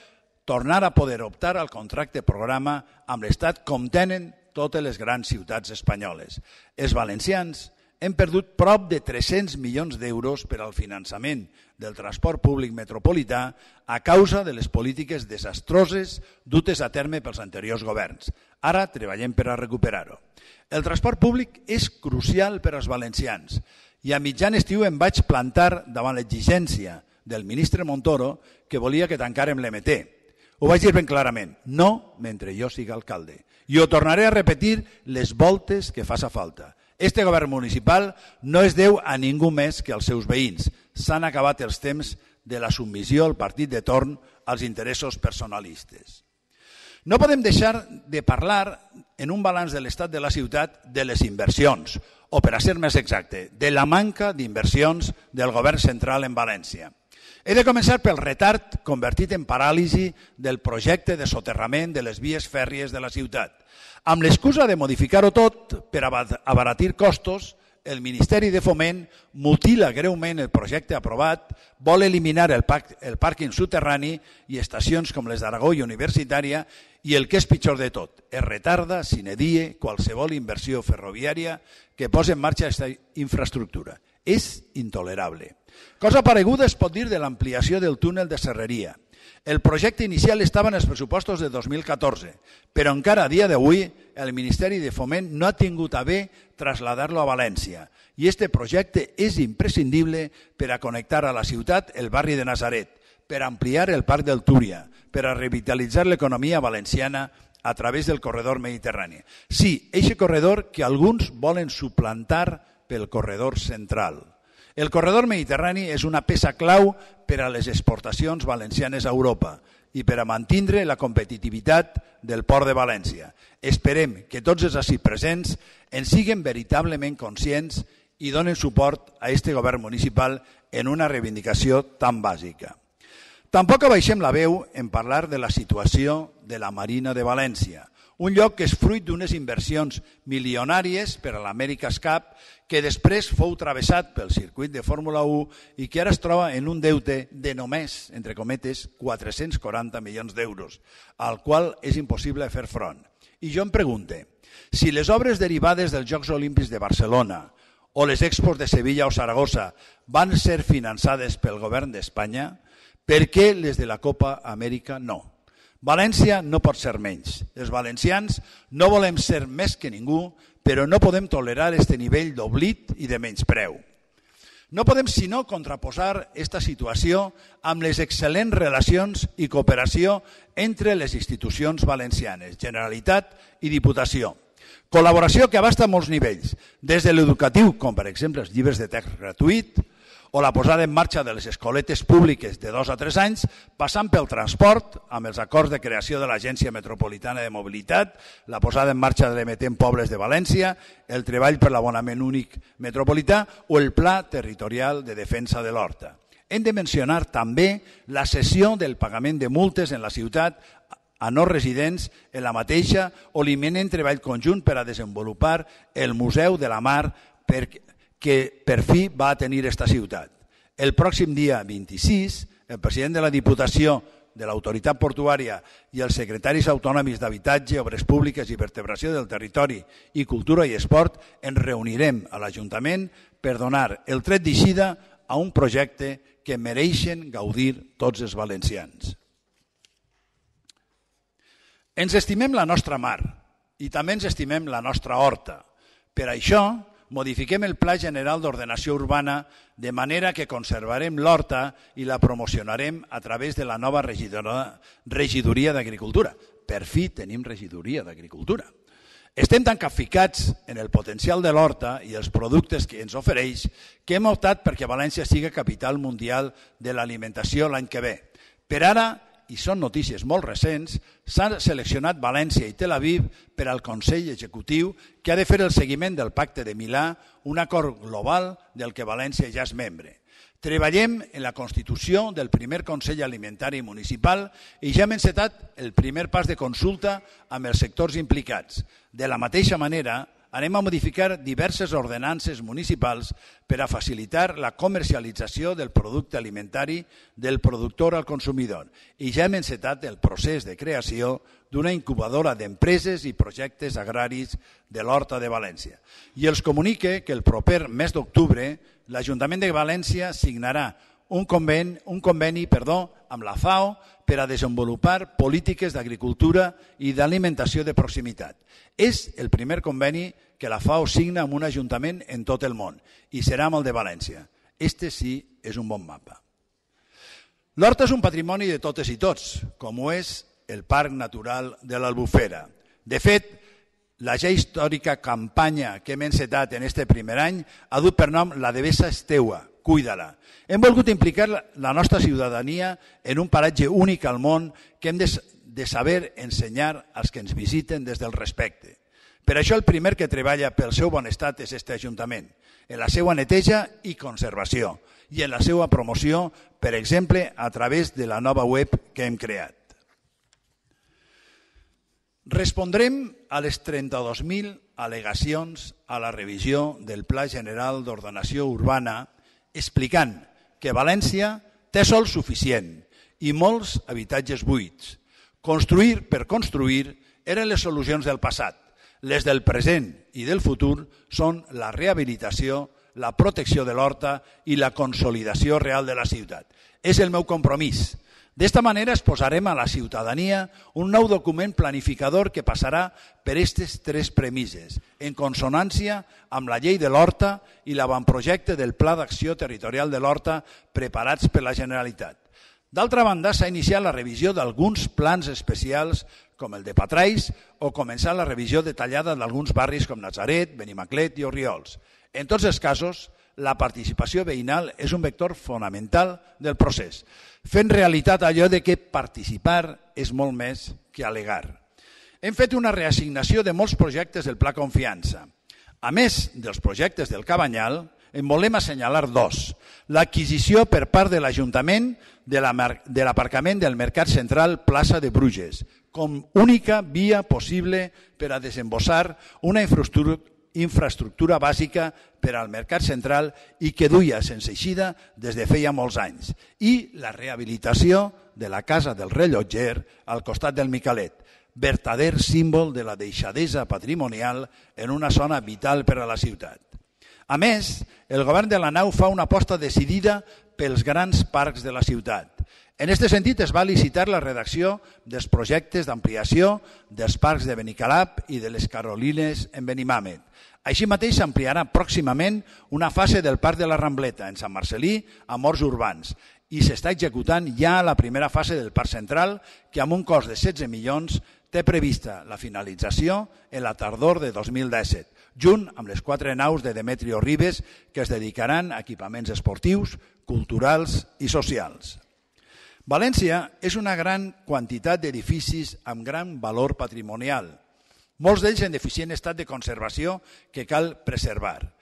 tornar a poder optar al contracte programa amb l'Estat com tenen totes les grans ciutats espanyoles. Els valencians hem perdut prop de 300 milions d'euros per al finançament del transport públic metropolità a causa de les polítiques desastroses dutes a terme pels anteriors governs. Ara treballem per a recuperar-ho. El transport públic és crucial per als valencians i a mitjan estiu em vaig plantar davant l'exigència del ministre Montoro que volia que tancàrem l'MT. Ho vaig dir ben clarament, no mentre jo siga alcalde. I ho tornaré a repetir les voltes que faça falta. Este govern municipal no es deu a ningú més que als seus veïns. S'han acabat els temps de la submissió al partit de torn als interessos personalistes. No podem deixar de parlar en un balanç de l'estat de la ciutat de les inversions, o per a ser més exacte, de la manca d'inversions del govern central en València. He de començar pel retard convertit en paràlisi del projecte de soterrament de les vies fèrries de la ciutat. Amb l'excusa de modificar-ho tot per abaratir costos, el Ministeri de Foment mutila greument el projecte aprovat, vol eliminar el pàrquing soterrani i estacions com les d'Aragó i Universitària i el que és pitjor de tot, es retarda sine die qualsevol inversió ferroviària que posi en marxa aquesta infraestructura. És intolerable. Cosa pareguda es pot dir de l'ampliació del túnel de Serreria. El projecte inicial estava en els pressupostos de 2014, però encara a dia d'avui el Ministeri de Foment no ha tingut a bé traslladar-lo a València i este projecte és imprescindible per a connectar a la ciutat el barri de Nazaret, per ampliar el Parc del Túria, per a revitalitzar l'economia valenciana a través del corredor mediterrani. Sí, eixe corredor que alguns volen suplantar pel corredor central. El corredor mediterrani és una peça clau per a les exportacions valencianes a Europa i per a mantindre la competitivitat del port de València. Esperem que tots els ací presents en siguen veritablement conscients i donen suport a este govern municipal en una reivindicació tan bàsica. Tampoc abaixem la veu en parlar de la situació de la Marina de València, un lloc que és fruit d'unes inversions milionàries per a l'America's Cup que després fou travessat pel circuit de Fórmula 1 i que ara es troba en un deute de només, entre cometes, 440 milions d'euros, al qual és impossible fer front. I jo em pregunte, si les obres derivades dels Jocs Olímpics de Barcelona o les Expos de Sevilla o Saragossa van ser finançades pel govern d'Espanya, Per què les de la Copa Amèrica no? València no pot ser menys. Els valencians no volem ser més que ningú, però no podem tolerar este nivell d'oblit i de menyspreu. No podem sinó contraposar aquesta situació amb les excel·lents relacions i cooperació entre les institucions valencianes, Generalitat i Diputació. Col·laboració que abasta molts nivells, des de l'educatiu, com per exemple els llibres de text gratuït, o la posada en marxa de les escoletes públiques de 2 a 3 anys, passant pel transport, amb els acords de creació de l'Agència Metropolitana de Mobilitat, la posada en marxa de l'Emetent Pobles de València, el treball per l'abonament únic metropolità o el Pla Territorial de Defensa de l'Horta. Hem de mencionar també la cessió del pagament de multes en la ciutat a no residents en la mateixa o l'imminent treball conjunt per a desenvolupar el Museu de la Mar que per fi va tenir esta ciutat. El pròxim dia 26, el president de la Diputació, de l'Autoritat Portuària i els secretaris autonòmics d'Habitatge, Obres Públiques i Vertebració del Territori i Cultura i Esport ens reunirem a l'Ajuntament per donar el tret d'eixida a un projecte que mereixen gaudir tots els valencians. Ens estimem la nostra mar i també ens estimem la nostra horta. Per això, modifiquem el Pla General d'Ordenació Urbana de manera que conservarem l'horta i la promocionarem a través de la nova regidoria d'Agricultura. Per fi tenim regidoria d'Agricultura. Estem tan capficats en el potencial de l'horta i els productes que ens ofereix que hem optat perquè València sigui capital mundial de l'alimentació l'any que ve. Per ara, i són notícies molt recents, s'han seleccionat València i Tel Aviv per al Consell Executiu que ha de fer el seguiment del Pacte de Milà, un acord global del que València ja és membre. Treballem en la constitució del primer Consell Alimentari Municipal i ja hem encetat el primer pas de consulta amb els sectors implicats. De la mateixa manera, anem a modificar diverses ordenances municipals per a facilitar la comercialització del producte alimentari del productor al consumidor i ja hem encetat el procés de creació d'una incubadora d'empreses i projectes agraris de l'Horta de València. I els comunique que el proper mes d'octubre l'Ajuntament de València signarà un conveni amb la FAO per a desenvolupar polítiques d'agricultura i d'alimentació de proximitat. És el primer conveni que la FAO signa amb un ajuntament en tot el món i serà amb el de València. Este sí és un bon mapa. L'Horta és un patrimoni de totes i tots, com ho és el Parc Natural de l'Albufera. De fet, la ja històrica campanya que hem encetat en este primer any ha dut per nom La Devesa és teua, cuida-la. Hem volgut implicar la nostra ciutadania en un paratge únic al món que hem de saber ensenyar als que ens visiten des del respecte. Per això el primer que treballa pel seu bon estat és este Ajuntament, en la seva neteja i conservació i en la seva promoció, per exemple, a través de la nova web que hem creat. Respondrem a les 32.000 al·legacions a la revisió del Pla General d'Ordenació Urbana explicant que València té sòl suficient i molts habitatges buits. Construir per construir eren les solucions del passat. Les del present i del futur són la rehabilitació, la protecció de l'horta i la consolidació real de la ciutat. És el meu compromís. D'esta manera es posarem a la ciutadania un nou document planificador que passarà per aquestes 3 premisses, en consonància amb la llei de l'Horta i l'avantprojecte del Pla d'Acció Territorial de l'Horta preparats per la Generalitat. D'altra banda, s'ha iniciat la revisió d'alguns plans especials com el de Patrais o començar la revisió detallada d'alguns barris com Natzaret, Benimaclet i Orriols. En tots els casos, la participació veïnal és un vector fonamental del procés, fent realitat allò de que participar és molt més que al·legar. Hem fet una reassignació de molts projectes del Pla Confiança. A més dels projectes del Cabanyal, en volem assenyalar 2. L'adquisició per part de l'Ajuntament de l'aparcament del Mercat Central Plaça de Bruges, com única via possible per a desembossar una infraestructura bàsica per al Mercat Central i que duia sense eixida des de feia molts anys, i la rehabilitació de la Casa del Rellotger al costat del Micalet, vertader símbol de la deixadesa patrimonial en una zona vital per a la ciutat. A més, el govern de la nau fa una aposta decidida pels grans parcs de la ciutat. En aquest sentit, es va licitar la redacció dels projectes d'ampliació dels parcs de Benicalap i de les Carolines en Benimàmet. Així mateix s'ampliarà pròximament una fase del Parc de la Rambleta en Sant Marcel·lí amb horts urbans i s'està executant ja la primera fase del Parc Central que amb un cost de 16 milions té prevista la finalització en la tardor de 2017, junt amb les 4 naus de Demetrio Ribes que es dedicaran a equipaments esportius, culturals i socials. València és una gran quantitat d'edificis amb gran valor patrimonial, molts d'ells en deficient estat de conservació que cal preservar.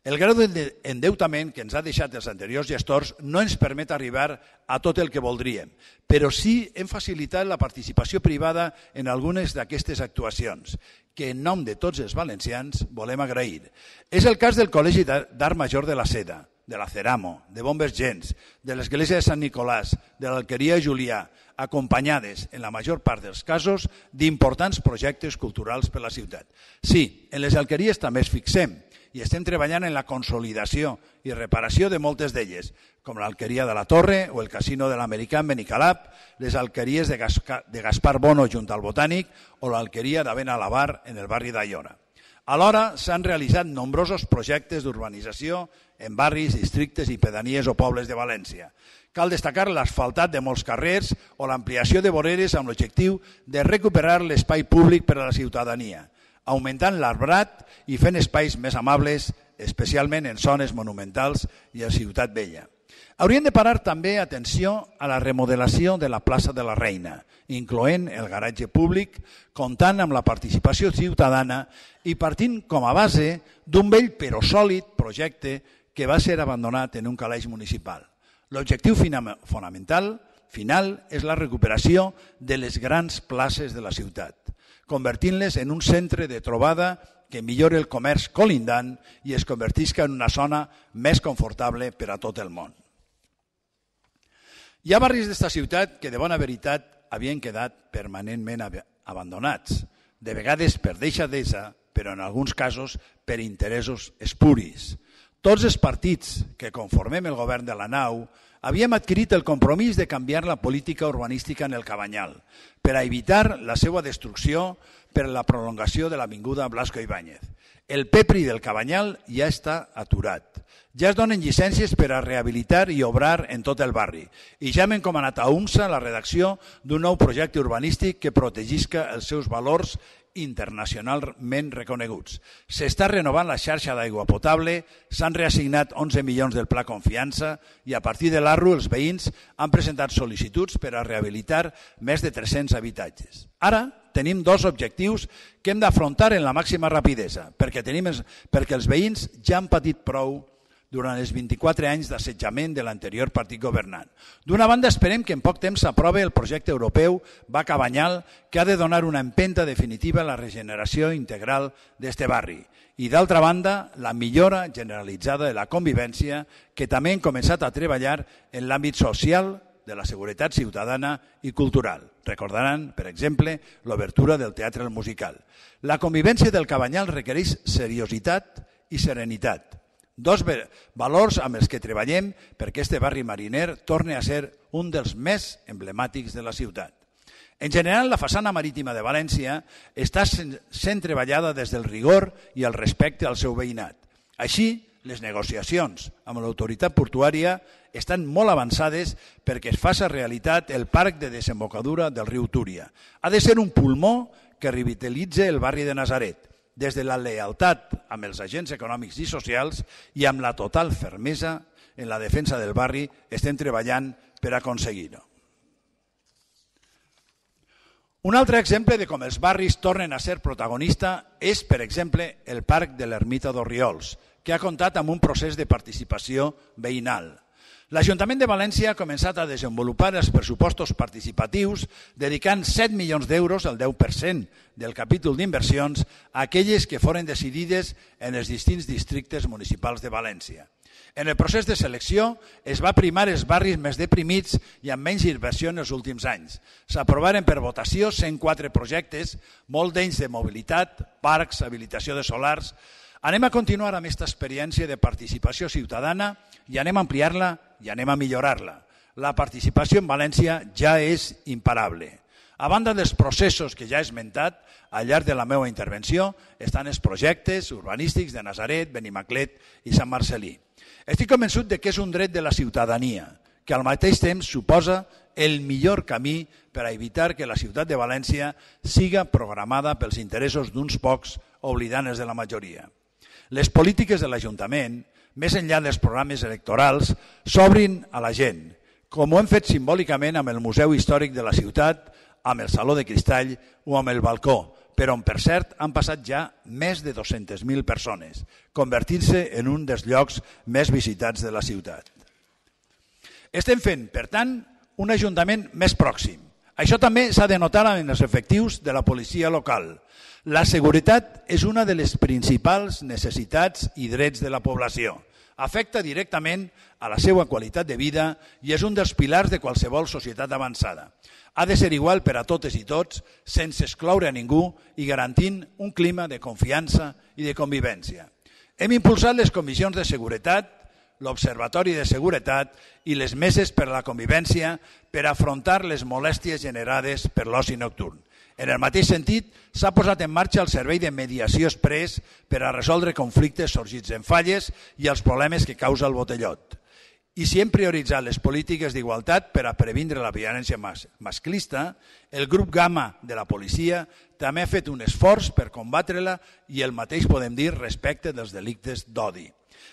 El grau d'endeutament que ens ha deixat els anteriors gestors no ens permet arribar a tot el que voldríem, però sí hem facilitat la participació privada en algunes d'aquestes actuacions, que en nom de tots els valencians volem agrair. És el cas del Col·legi d'Art Major de la Seda, de la Ceramo, de Bombers Gens, de l'Església de Sant Nicolàs, de l'Alqueria Julià, acompanyades, en la major part dels casos, d'importants projectes culturals per la ciutat. Sí, en les alqueries també es fixem i estem treballant en la consolidació i reparació de moltes d'elles, com l'Alqueria de la Torre o el Casino de l'Americà en Benicalap, les alqueries de Gaspar Bono junt al Botànic o l'Alqueria de Benalabar en el barri d'Aiora. Alhora s'han realitzat nombrosos projectes d'urbanització en barris, districtes i pedanies o pobles de València. Cal destacar l'asfaltat de molts carrers o l'ampliació de voreres amb l'objectiu de recuperar l'espai públic per a la ciutadania, augmentant l'arbrat i fent espais més amables, especialment en zones monumentals i a Ciutat Vella. Hauríem de parar també atenció a la remodelació de la plaça de la Reina, incloent el garatge públic, comptant amb la participació ciutadana i partint com a base d'un vell però sòlid projecte que va ser abandonat en un calaix municipal. L'objectiu fonamental final és la recuperació de les grans places de la ciutat, convertint-les en un centre de trobada que millori el comerç colindant i es convertisca en una zona més confortable per a tot el món. Hi ha barris d'esta ciutat que de bona veritat havien quedat permanentment abandonats, de vegades per deixadesa, però en alguns casos per interessos espuris. Tots els partits que conformem el govern de la nau havíem adquirit el compromís de canviar la política urbanística en el Cabanyal per a evitar la seva destrucció per la prolongació de l'avinguda Blasco Ibáñez. El PEPRI del Cabanyal ja està aturat. Ja es donen llicències per a rehabilitar i obrar en tot el barri i ja hem encomanat a UMSA la redacció d'un nou projecte urbanístic que protegisca els seus valors internacionalment reconeguts. S'està renovant la xarxa d'aigua potable, s'han reassignat 11 milions del Pla Confiança i a partir de l'ARRU els veïns han presentat sol·licituds per a rehabilitar més de 300 habitatges. Ara tenim dos objectius que hem d'afrontar en la màxima rapidesa, perquè els veïns ja han patit prou durant els 24 anys d'assetjament de l'anterior partit governant. D'una banda, esperem que en poc temps s'aprovi el projecte europeu Va-Cabanyal, que ha de donar una empenta definitiva a la regeneració integral d'este barri. I d'altra banda, la millora generalitzada de la convivència, que també hem començat a treballar en l'àmbit social, de la seguretat ciutadana i cultural. Recordaran, per exemple, l'obertura del Teatre El Musical. La convivència del Cabanyal requereix seriositat i serenitat. Dos valors amb els que treballem perquè este barri mariner torni a ser un dels més emblemàtics de la ciutat. En general, la façana marítima de València està sent treballada des del rigor i el respecte al seu veïnat. Així, les negociacions amb l'autoritat portuària estan molt avançades perquè es faci realitat el parc de desembocadura del riu Túria. Ha de ser un pulmó que revitalitzi el barri de Nazaret, des de la lealtat amb els agents econòmics i socials i amb la total fermesa en la defensa del barri estem treballant per aconseguir-ho. Un altre exemple de com els barris tornen a ser protagonista és, per exemple, el Parc de l'Ermita d'Orriols, que ha comptat amb un procés de participació veïnal. L'Ajuntament de València ha començat a desenvolupar els pressupostos participatius dedicant 7 milions d'euros, el 10% del capítol d'inversions, a aquelles que foren decidides en els distints districtes municipals de València. En el procés de selecció es va primar els barris més deprimits i amb menys inversió en els últims anys. S'aprovaren per votació 104 projectes, molts d'ells de mobilitat, parcs, habilitació de solars. Anem a continuar amb aquesta experiència de participació ciutadana i anem a ampliar-la i anem a millorar-la. la participació en València ja és imparable. A banda dels processos que ja he esmentat, al llarg de la meva intervenció estan els projectes urbanístics de Nazaret, Benimaclet i Sant Marcel·lí. Estic convençut que és un dret de la ciutadania, que al mateix temps suposa el millor camí per a evitar que la ciutat de València siga programada pels interessos d'uns pocs oblidant els de la majoria. Les polítiques de l'Ajuntament, més enllà dels programes electorals, s'obrin a la gent, com ho hem fet simbòlicament amb el Museu Històric de la ciutat, amb el Saló de Cristall o amb el Balcó, però on, per cert, han passat ja més de 200.000 persones, convertint-se en un dels llocs més visitats de la ciutat. Estem fent, per tant, un ajuntament més pròxim. Això també s'ha de notar en els efectius de la policia local. La seguretat és una de les principals necessitats i drets de la població. Afecta directament a la seva qualitat de vida i és un dels pilars de qualsevol societat avançada. Ha de ser igual per a totes i tots, sense excloure a ningú i garantint un clima de confiança i de convivència. Hem impulsat les comissions de seguretat, l'Observatori de Seguretat i les meses per a la convivència per afrontar les molèsties generades per l'oci nocturn. En el mateix sentit, s'ha posat en marxa el servei de mediació exprés per a resoldre conflictes sorgits en falles i els problemes que causa el botellot. I si hem prioritzat les polítiques d'igualtat per a previndre la violència masclista, el grup Gamma de la policia també ha fet un esforç per combatre-la i el mateix podem dir respecte dels delictes d'odi.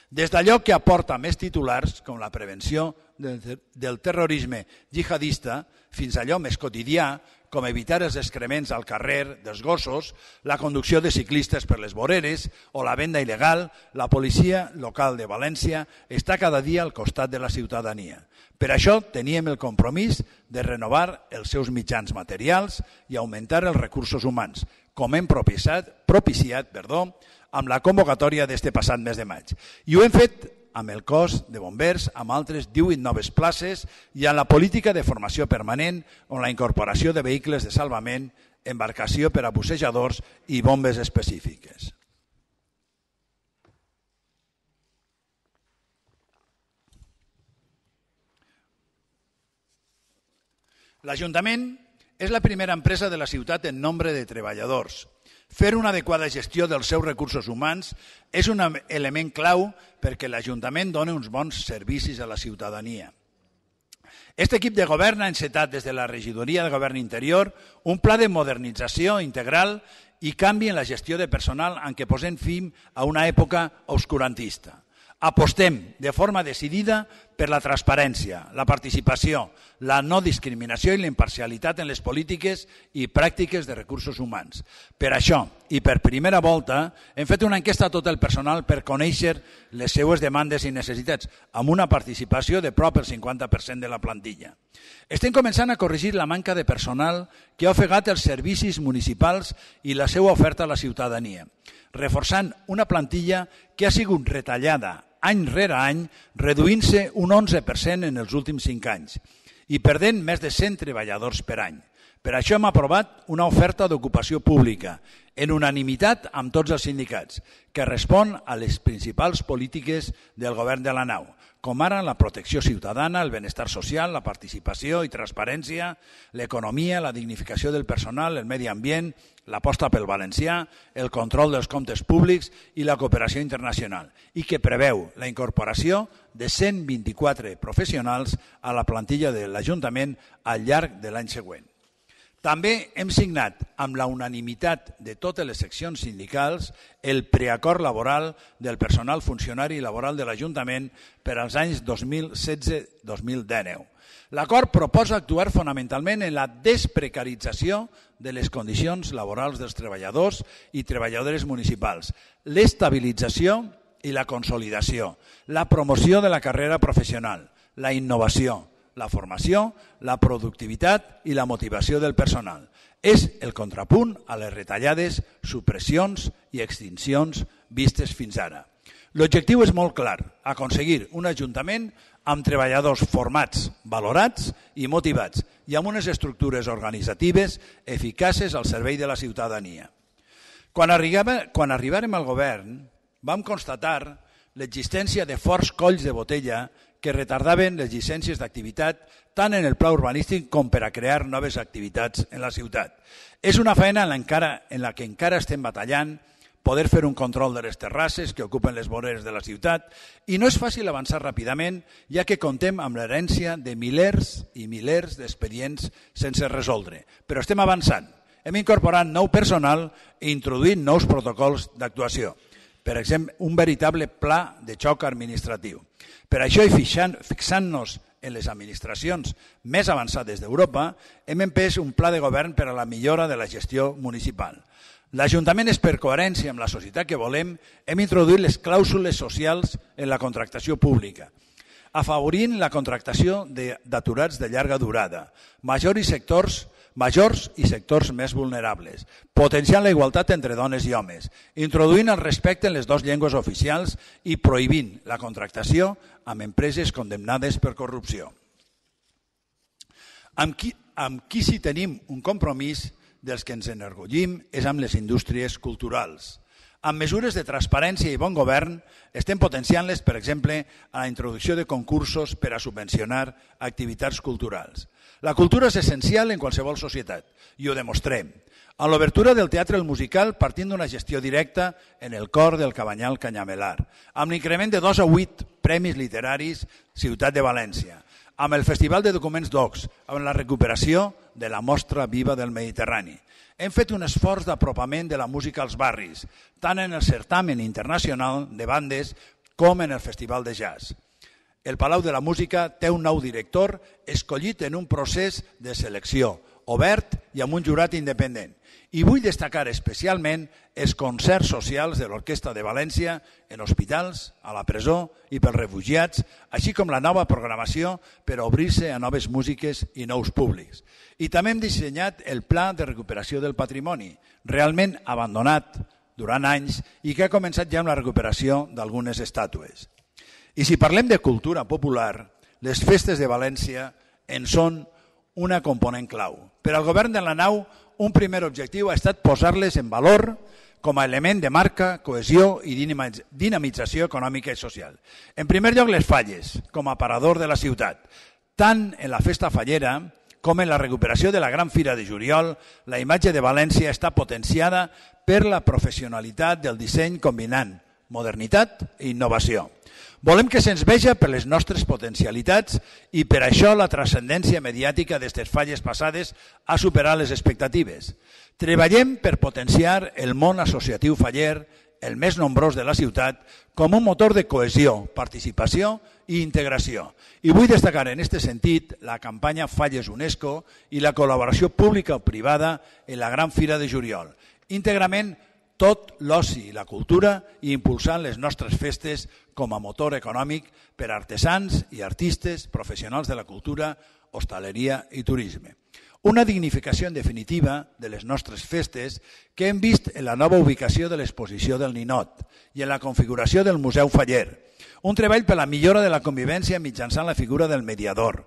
Des d'allò que aporta més titulars, com la prevenció del terrorisme jihadista, fins a allò més quotidià, com evitar els excrements al carrer dels gossos, la conducció de ciclistes per les voreres o la venda il·legal, la policia local de València està cada dia al costat de la ciutadania. Per això teníem el compromís de renovar els seus mitjans materials i augmentar els recursos humans, com hem propiciat amb la convocatòria d'este passat mes de maig. I ho hem fet amb el cos de bombers, amb altres 18 noves places i amb la política de formació permanent on la incorporació de vehicles de salvament, embarcació per a bussejadors i bombes específiques. L'Ajuntament és la primera empresa de la ciutat en nombre de treballadors. Fer una adequada gestió dels seus recursos humans és un element clau perquè l'Ajuntament doni uns bons servicis a la ciutadania. Aquest equip de govern ha encetat des de la Regidoria de Govern Interior un pla de modernització integral i canvi en la gestió de personal en què posem fi a una època obscurantista. Apostem de forma decidida per la transparència, la participació, la no discriminació i la imparcialitat en les polítiques i pràctiques de recursos humans. Per això, i per primera volta, hem fet una enquesta a tot el personal per conèixer les seues demandes i necessitats, amb una participació de prop el 50% de la plantilla. Estem començant a corregir la manca de personal que ha ofegat els servicis municipals i la seva oferta a la ciutadania, reforçant una plantilla que ha sigut retallada any rere any, reduint-se un 11% en els últims 5 anys i perdent més de 100 treballadors per any. Per això hem aprovat una oferta d'ocupació pública, en unanimitat amb tots els sindicats, que respon a les principals polítiques del govern de la nau, com ara la protecció ciutadana, el benestar social, la participació i transparència, l'economia, la dignificació del personal, el medi ambient, l'aposta pel valencià, el control dels comptes públics i la cooperació internacional, i que preveu la incorporació de 124 professionals a la plantilla de l'Ajuntament al llarg de l'any següent. També hem signat amb la unanimitat de totes les seccions sindicals el preacord laboral del personal funcionari i laboral de l'Ajuntament per als anys 2016-2019. L'acord proposa actuar fonamentalment en la desprecarització de les condicions laborals dels treballadors i treballadores municipals, l'estabilització i la consolidació, la promoció de la carrera professional, la innovació, la formació, la productivitat i la motivació del personal. És el contrapunt a les retallades, supressions i extincions vistes fins ara. L'objectiu és molt clar, aconseguir un ajuntament amb treballadors formats, valorats i motivats i amb unes estructures organitzatives eficaces al servei de la ciutadania. Quan arribàrem al govern, vam constatar l'existència de forts colls de botella que retardaven les llicències d'activitat tant en el pla urbanístic com per a crear noves activitats en la ciutat. És una feina en la que encara estem batallant, poder fer un control de les terrasses que ocupen les voreres de la ciutat, i no és fàcil avançar ràpidament, ja que contem amb l'herència de milers i milers d'expedients sense resoldre. Però estem avançant. Hem incorporat nou personal i introduït nous protocols d'actuació. Per exemple, un veritable pla de xoc administratiu. Per això, i fixant-nos en les administracions més avançades d'Europa, hem empès un pla de govern per a la millora de la gestió municipal. L'Ajuntament és per coherència amb la societat que volem, hem introduït les clàusules socials en la contractació pública, afavorint la contractació d'aturats de llarga durada, majors i sectors més vulnerables, potenciant la igualtat entre dones i homes, introduint el respecte en les dues llengües oficials i prohibint la contractació amb empreses condemnades per corrupció. Amb qui sí tenim un compromís dels que ens enorgullim és amb les indústries culturals. Amb mesures de transparència i bon govern estem potenciant-les, per exemple, a la introducció de concursos per a subvencionar activitats culturals. La cultura és essencial en qualsevol societat i ho demostrem. A l'obertura del teatre El Musical partint d'una gestió directa en el cor del Cabanyal Canyamelar, amb l'increment de 2 a 8 premis literaris Ciutat de València, amb el Festival de Documents Docs, amb la recuperació de la Mostra Viva del Mediterrani. Hem fet un esforç d'apropament de la música als barris, tant en el certamen internacional de bandes com en el Festival de Jazz. El Palau de la Música té un nou director escollit en un procés de selecció, obert i amb un jurat independent. I vull destacar especialment els concerts socials de l'Orquestra de València en hospitals, a la presó i pels refugiats, així com la nova programació per obrir-se a noves músiques i nous públics. I també hem dissenyat el Pla de Recuperació del Patrimoni, realment abandonat durant anys i que ha començat ja amb la recuperació d'algunes estàtues. I si parlem de cultura popular, les festes de València en són una component clau. Per al govern de la nau, un primer objectiu ha estat posar-les en valor com a element de marca, cohesió i dinamització econòmica i social. En primer lloc, les falles, com a aparador de la ciutat. Tant en la festa fallera com en la recuperació de la Gran Fira de Juliol, la imatge de València està potenciada per la professionalitat del disseny combinant modernitat i innovació. Volem que se'ns veja per les nostres potencialitats i per això la transcendència mediàtica d'aquestes falles passades ha superat les expectatives. Treballem per potenciar el món associatiu faller, el més nombrós de la ciutat, com un motor de cohesió, participació i integració. I vull destacar en aquest sentit la campanya Falles UNESCO i la col·laboració pública o privada en la Gran Fira de Juliol. Íntegrament tot l'oci i la cultura i impulsant les nostres festes com a motor econòmic per a artesans i artistes, professionals de la cultura, hostaleria i turisme. Una dignificació en definitiva de les nostres festes que hem vist en la nova ubicació de l'exposició del Ninot i en la configuració del Museu Faller. Un treball per la millora de la convivència mitjançant la figura del mediador,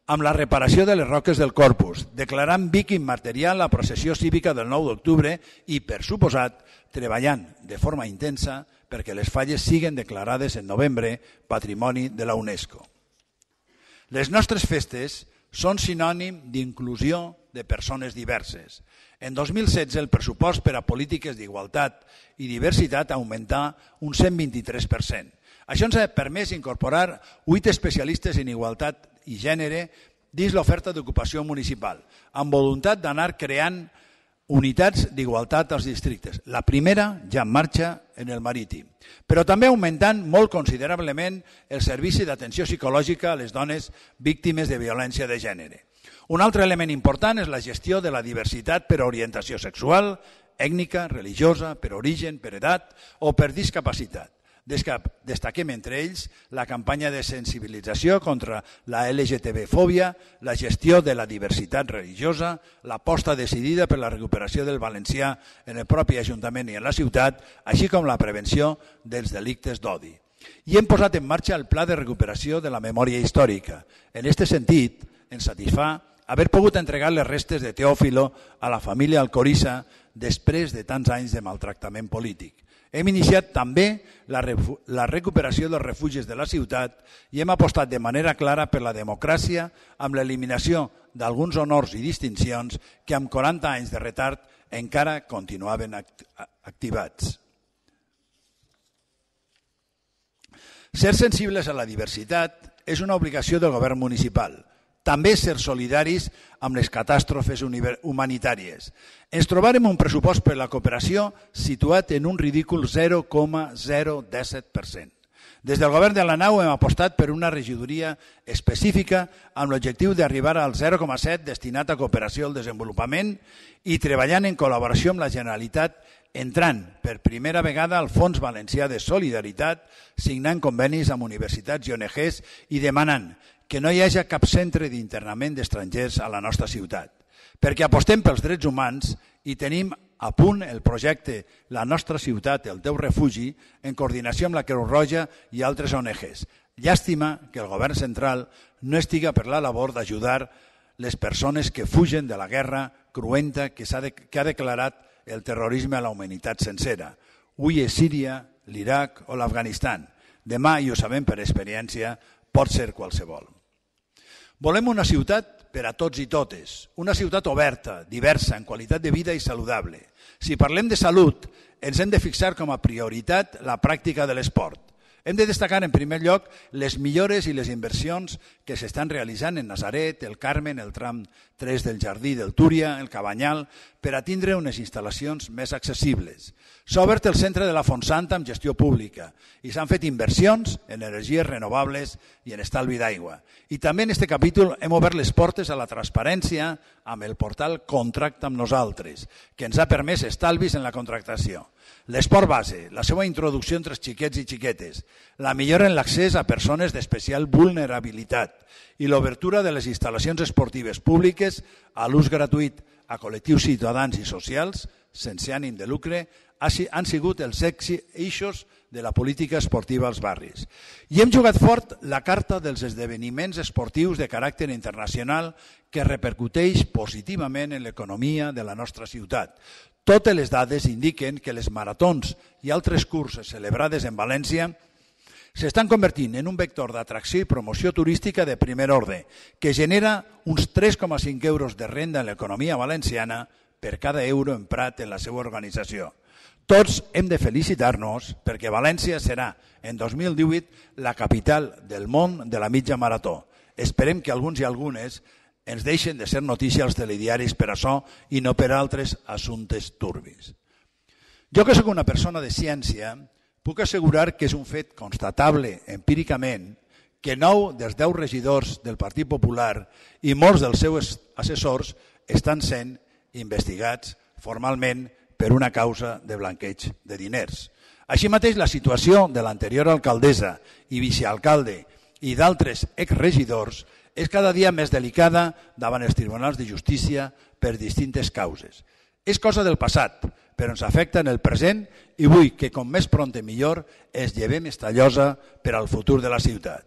amb la reparació de les roques del Corpus, declarant Vic immaterial la processió cívica del 9 d'octubre i, per suposat, treballant de forma intensa perquè les falles siguen declarades en novembre Patrimoni de la UNESCO. Les nostres festes són sinònim d'inclusió de persones diverses. En 2016 el pressupost per a polítiques d'igualtat i diversitat augmentà un 123%. Això ens ha permès incorporar 8 especialistes en igualtat i gènere dins l'oferta d'ocupació municipal, amb voluntat d'anar creant unitats d'igualtat als districtes. La primera ja en marxa en el Marítim, però també augmentant molt considerablement el servici d'atenció psicològica a les dones víctimes de violència de gènere. Un altre element important és la gestió de la diversitat per orientació sexual, ètnica, religiosa, per origen, per edat o per discapacitat. Destaquem entre ells la campanya de sensibilització contra la LGTB-fòbia, la gestió de la diversitat religiosa, l'aposta decidida per la recuperació del valencià en el propi Ajuntament i en la ciutat, així com la prevenció dels delictes d'odi. I hem posat en marxa el Pla de Recuperació de la Memòria Històrica. En aquest sentit, ens satisfà haver pogut entregar les restes de Teòfilo a la família Alcorissa després de tants anys de maltractament polític. Hem iniciat també la recuperació dels refugis de la ciutat i hem apostat de manera clara per la democràcia amb l'eliminació d'alguns honors i distincions que amb 40 anys de retard encara continuaven activats. Ser sensibles a la diversitat és una obligació del govern municipal. També ser solidaris amb les catàstrofes humanitàries. Ens trobarem un pressupost per la cooperació situat en un ridícul 0,017%. Des del govern de la nau hem apostat per una regidoria específica amb l'objectiu d'arribar al 0,7 destinat a cooperació al desenvolupament i treballant en col·laboració amb la Generalitat, entrant per primera vegada al Fons Valencià de Solidaritat, signant convenis amb universitats i ONGs i demanant que no hi hagi cap centre d'internament d'estrangers a la nostra ciutat. Perquè apostem pels drets humans i tenim a punt el projecte La nostra ciutat, el teu refugi, en coordinació amb la Creu Roja i altres ONGs. Llàstima que el govern central no estiga per la labor d'ajudar les persones que fugen de la guerra cruenta que ha declarat el terrorisme a la humanitat sencera. Avui és Síria, l'Iraq o l'Afganistan. Demà, i ho sabem per experiència, pot ser qualsevol. Volem una ciutat per a tots i totes, una ciutat oberta, diversa, en qualitat de vida i saludable. Si parlem de salut, ens hem de fixar com a prioritat la pràctica de l'esport. Hem de destacar en primer lloc les millores i les inversions que s'estan realitzant en Nazaret, el Carmen, el tram 3 del Jardí del Túria, el Cabanyal, per a tindre unes instal·lacions més accessibles. S'ha obert el centre de la Fontsanta amb gestió pública i s'han fet inversions en energies renovables i en estalvi d'aigua. I també en aquest capítol hem obert les portes a la transparència amb el portal Contracta amb nosaltres, que ens ha permès estalvis en la contractació. L'esport base, la seva introducció entre els xiquets i xiquetes, la millora en l'accés a persones d'especial vulnerabilitat i l'obertura de les instal·lacions esportives públiques a l'ús gratuït a col·lectius ciutadans i socials sense ànim de lucre han sigut els eixos de la política esportiva als barris. I hem jugat fort la carta dels esdeveniments esportius de caràcter internacional que repercuteix positivament en l'economia de la nostra ciutat. Totes les dades indiquen que les maratons i altres curses celebrades en València s'estan convertint en un vector d'atracció i promoció turística de primer ordre, que genera uns 3,5 euros de renda en l'economia valenciana per cada euro emprat en la seva organització. Tots hem de felicitar-nos perquè València serà, en 2018, la capital del món de la mitja marató. Esperem que alguns i algunes ens deixen de ser notícia als telediaris per això i no per altres assumptes turbis. Jo que sóc una persona de ciència, puc assegurar que és un fet constatable empíricament que 9 dels 10 regidors del Partit Popular i molts dels seus assessors estan sent investigats formalment per una causa de blanqueig de diners. Així mateix, la situació de l'anterior alcaldessa i vicealcalde i d'altres exregidors és cada dia més delicada davant els tribunals de justícia per distintes causes. És cosa del passat, però ens afecta en el present i vull que com més prompte millor es llevem esta llosa per al futur de la ciutat.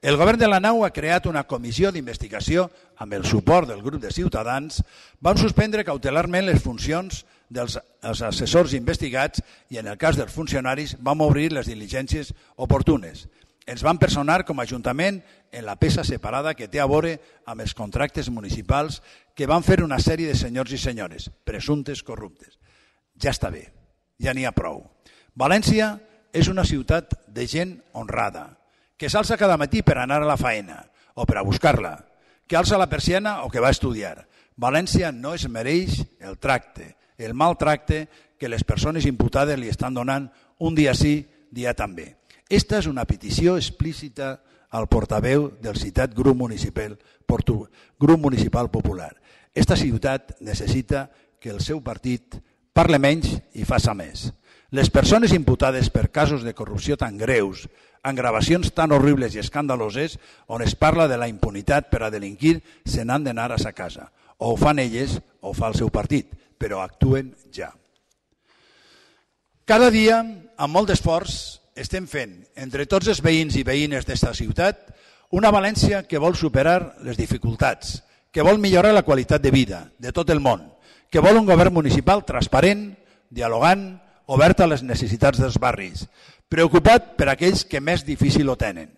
El govern de la nau ha creat una comissió d'investigació amb el suport del grup de Ciutadans. Vam suspendre cautelarment les funcions dels assessors investigats i en el cas dels funcionaris vam obrir les diligències oportunes. Ens van personar com a Ajuntament en la peça separada que té a veure amb els contractes municipals que van fer una sèrie de senyors i senyores, presumptes corruptes. Ja està bé, ja n'hi ha prou. València és una ciutat de gent honrada, que s'alça cada matí per anar a la faena o per a buscar-la, que alça la persiana o que va a estudiar. València no es mereix el tracte, el mal tracte que les persones imputades li estan donant un dia sí, dia també. Esta és una petició explícita al portaveu del citat grup municipal popular. Esta ciutat necessita que el seu partit parle menys i faça més. Les persones imputades per casos de corrupció tan greus, amb gravacions tan horribles i escandaloses, on es parla de la impunitat per a delinquir, se n'han d'anar a sa casa. O ho fan elles o ho fa el seu partit, però actuen ja. Cada dia, amb molt d'esforç, estem fent, entre tots els veïns i veïnes d'esta ciutat, una València que vol superar les dificultats, que vol millorar la qualitat de vida de tot el món, que vol un govern municipal transparent, dialogant, obert a les necessitats dels barris, preocupat per aquells que més difícil ho tenen,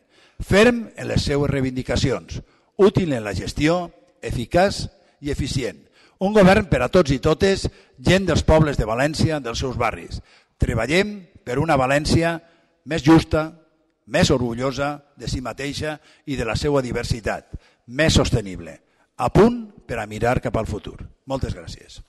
ferm en les seues reivindicacions, útil en la gestió, eficaç i eficient. Un govern per a tots i totes, gent dels pobles de València, dels seus barris. Treballem per una València més justa, més orgullosa de si mateixa i de la seva diversitat, més sostenible, a punt per a mirar cap al futur. Moltes gràcies.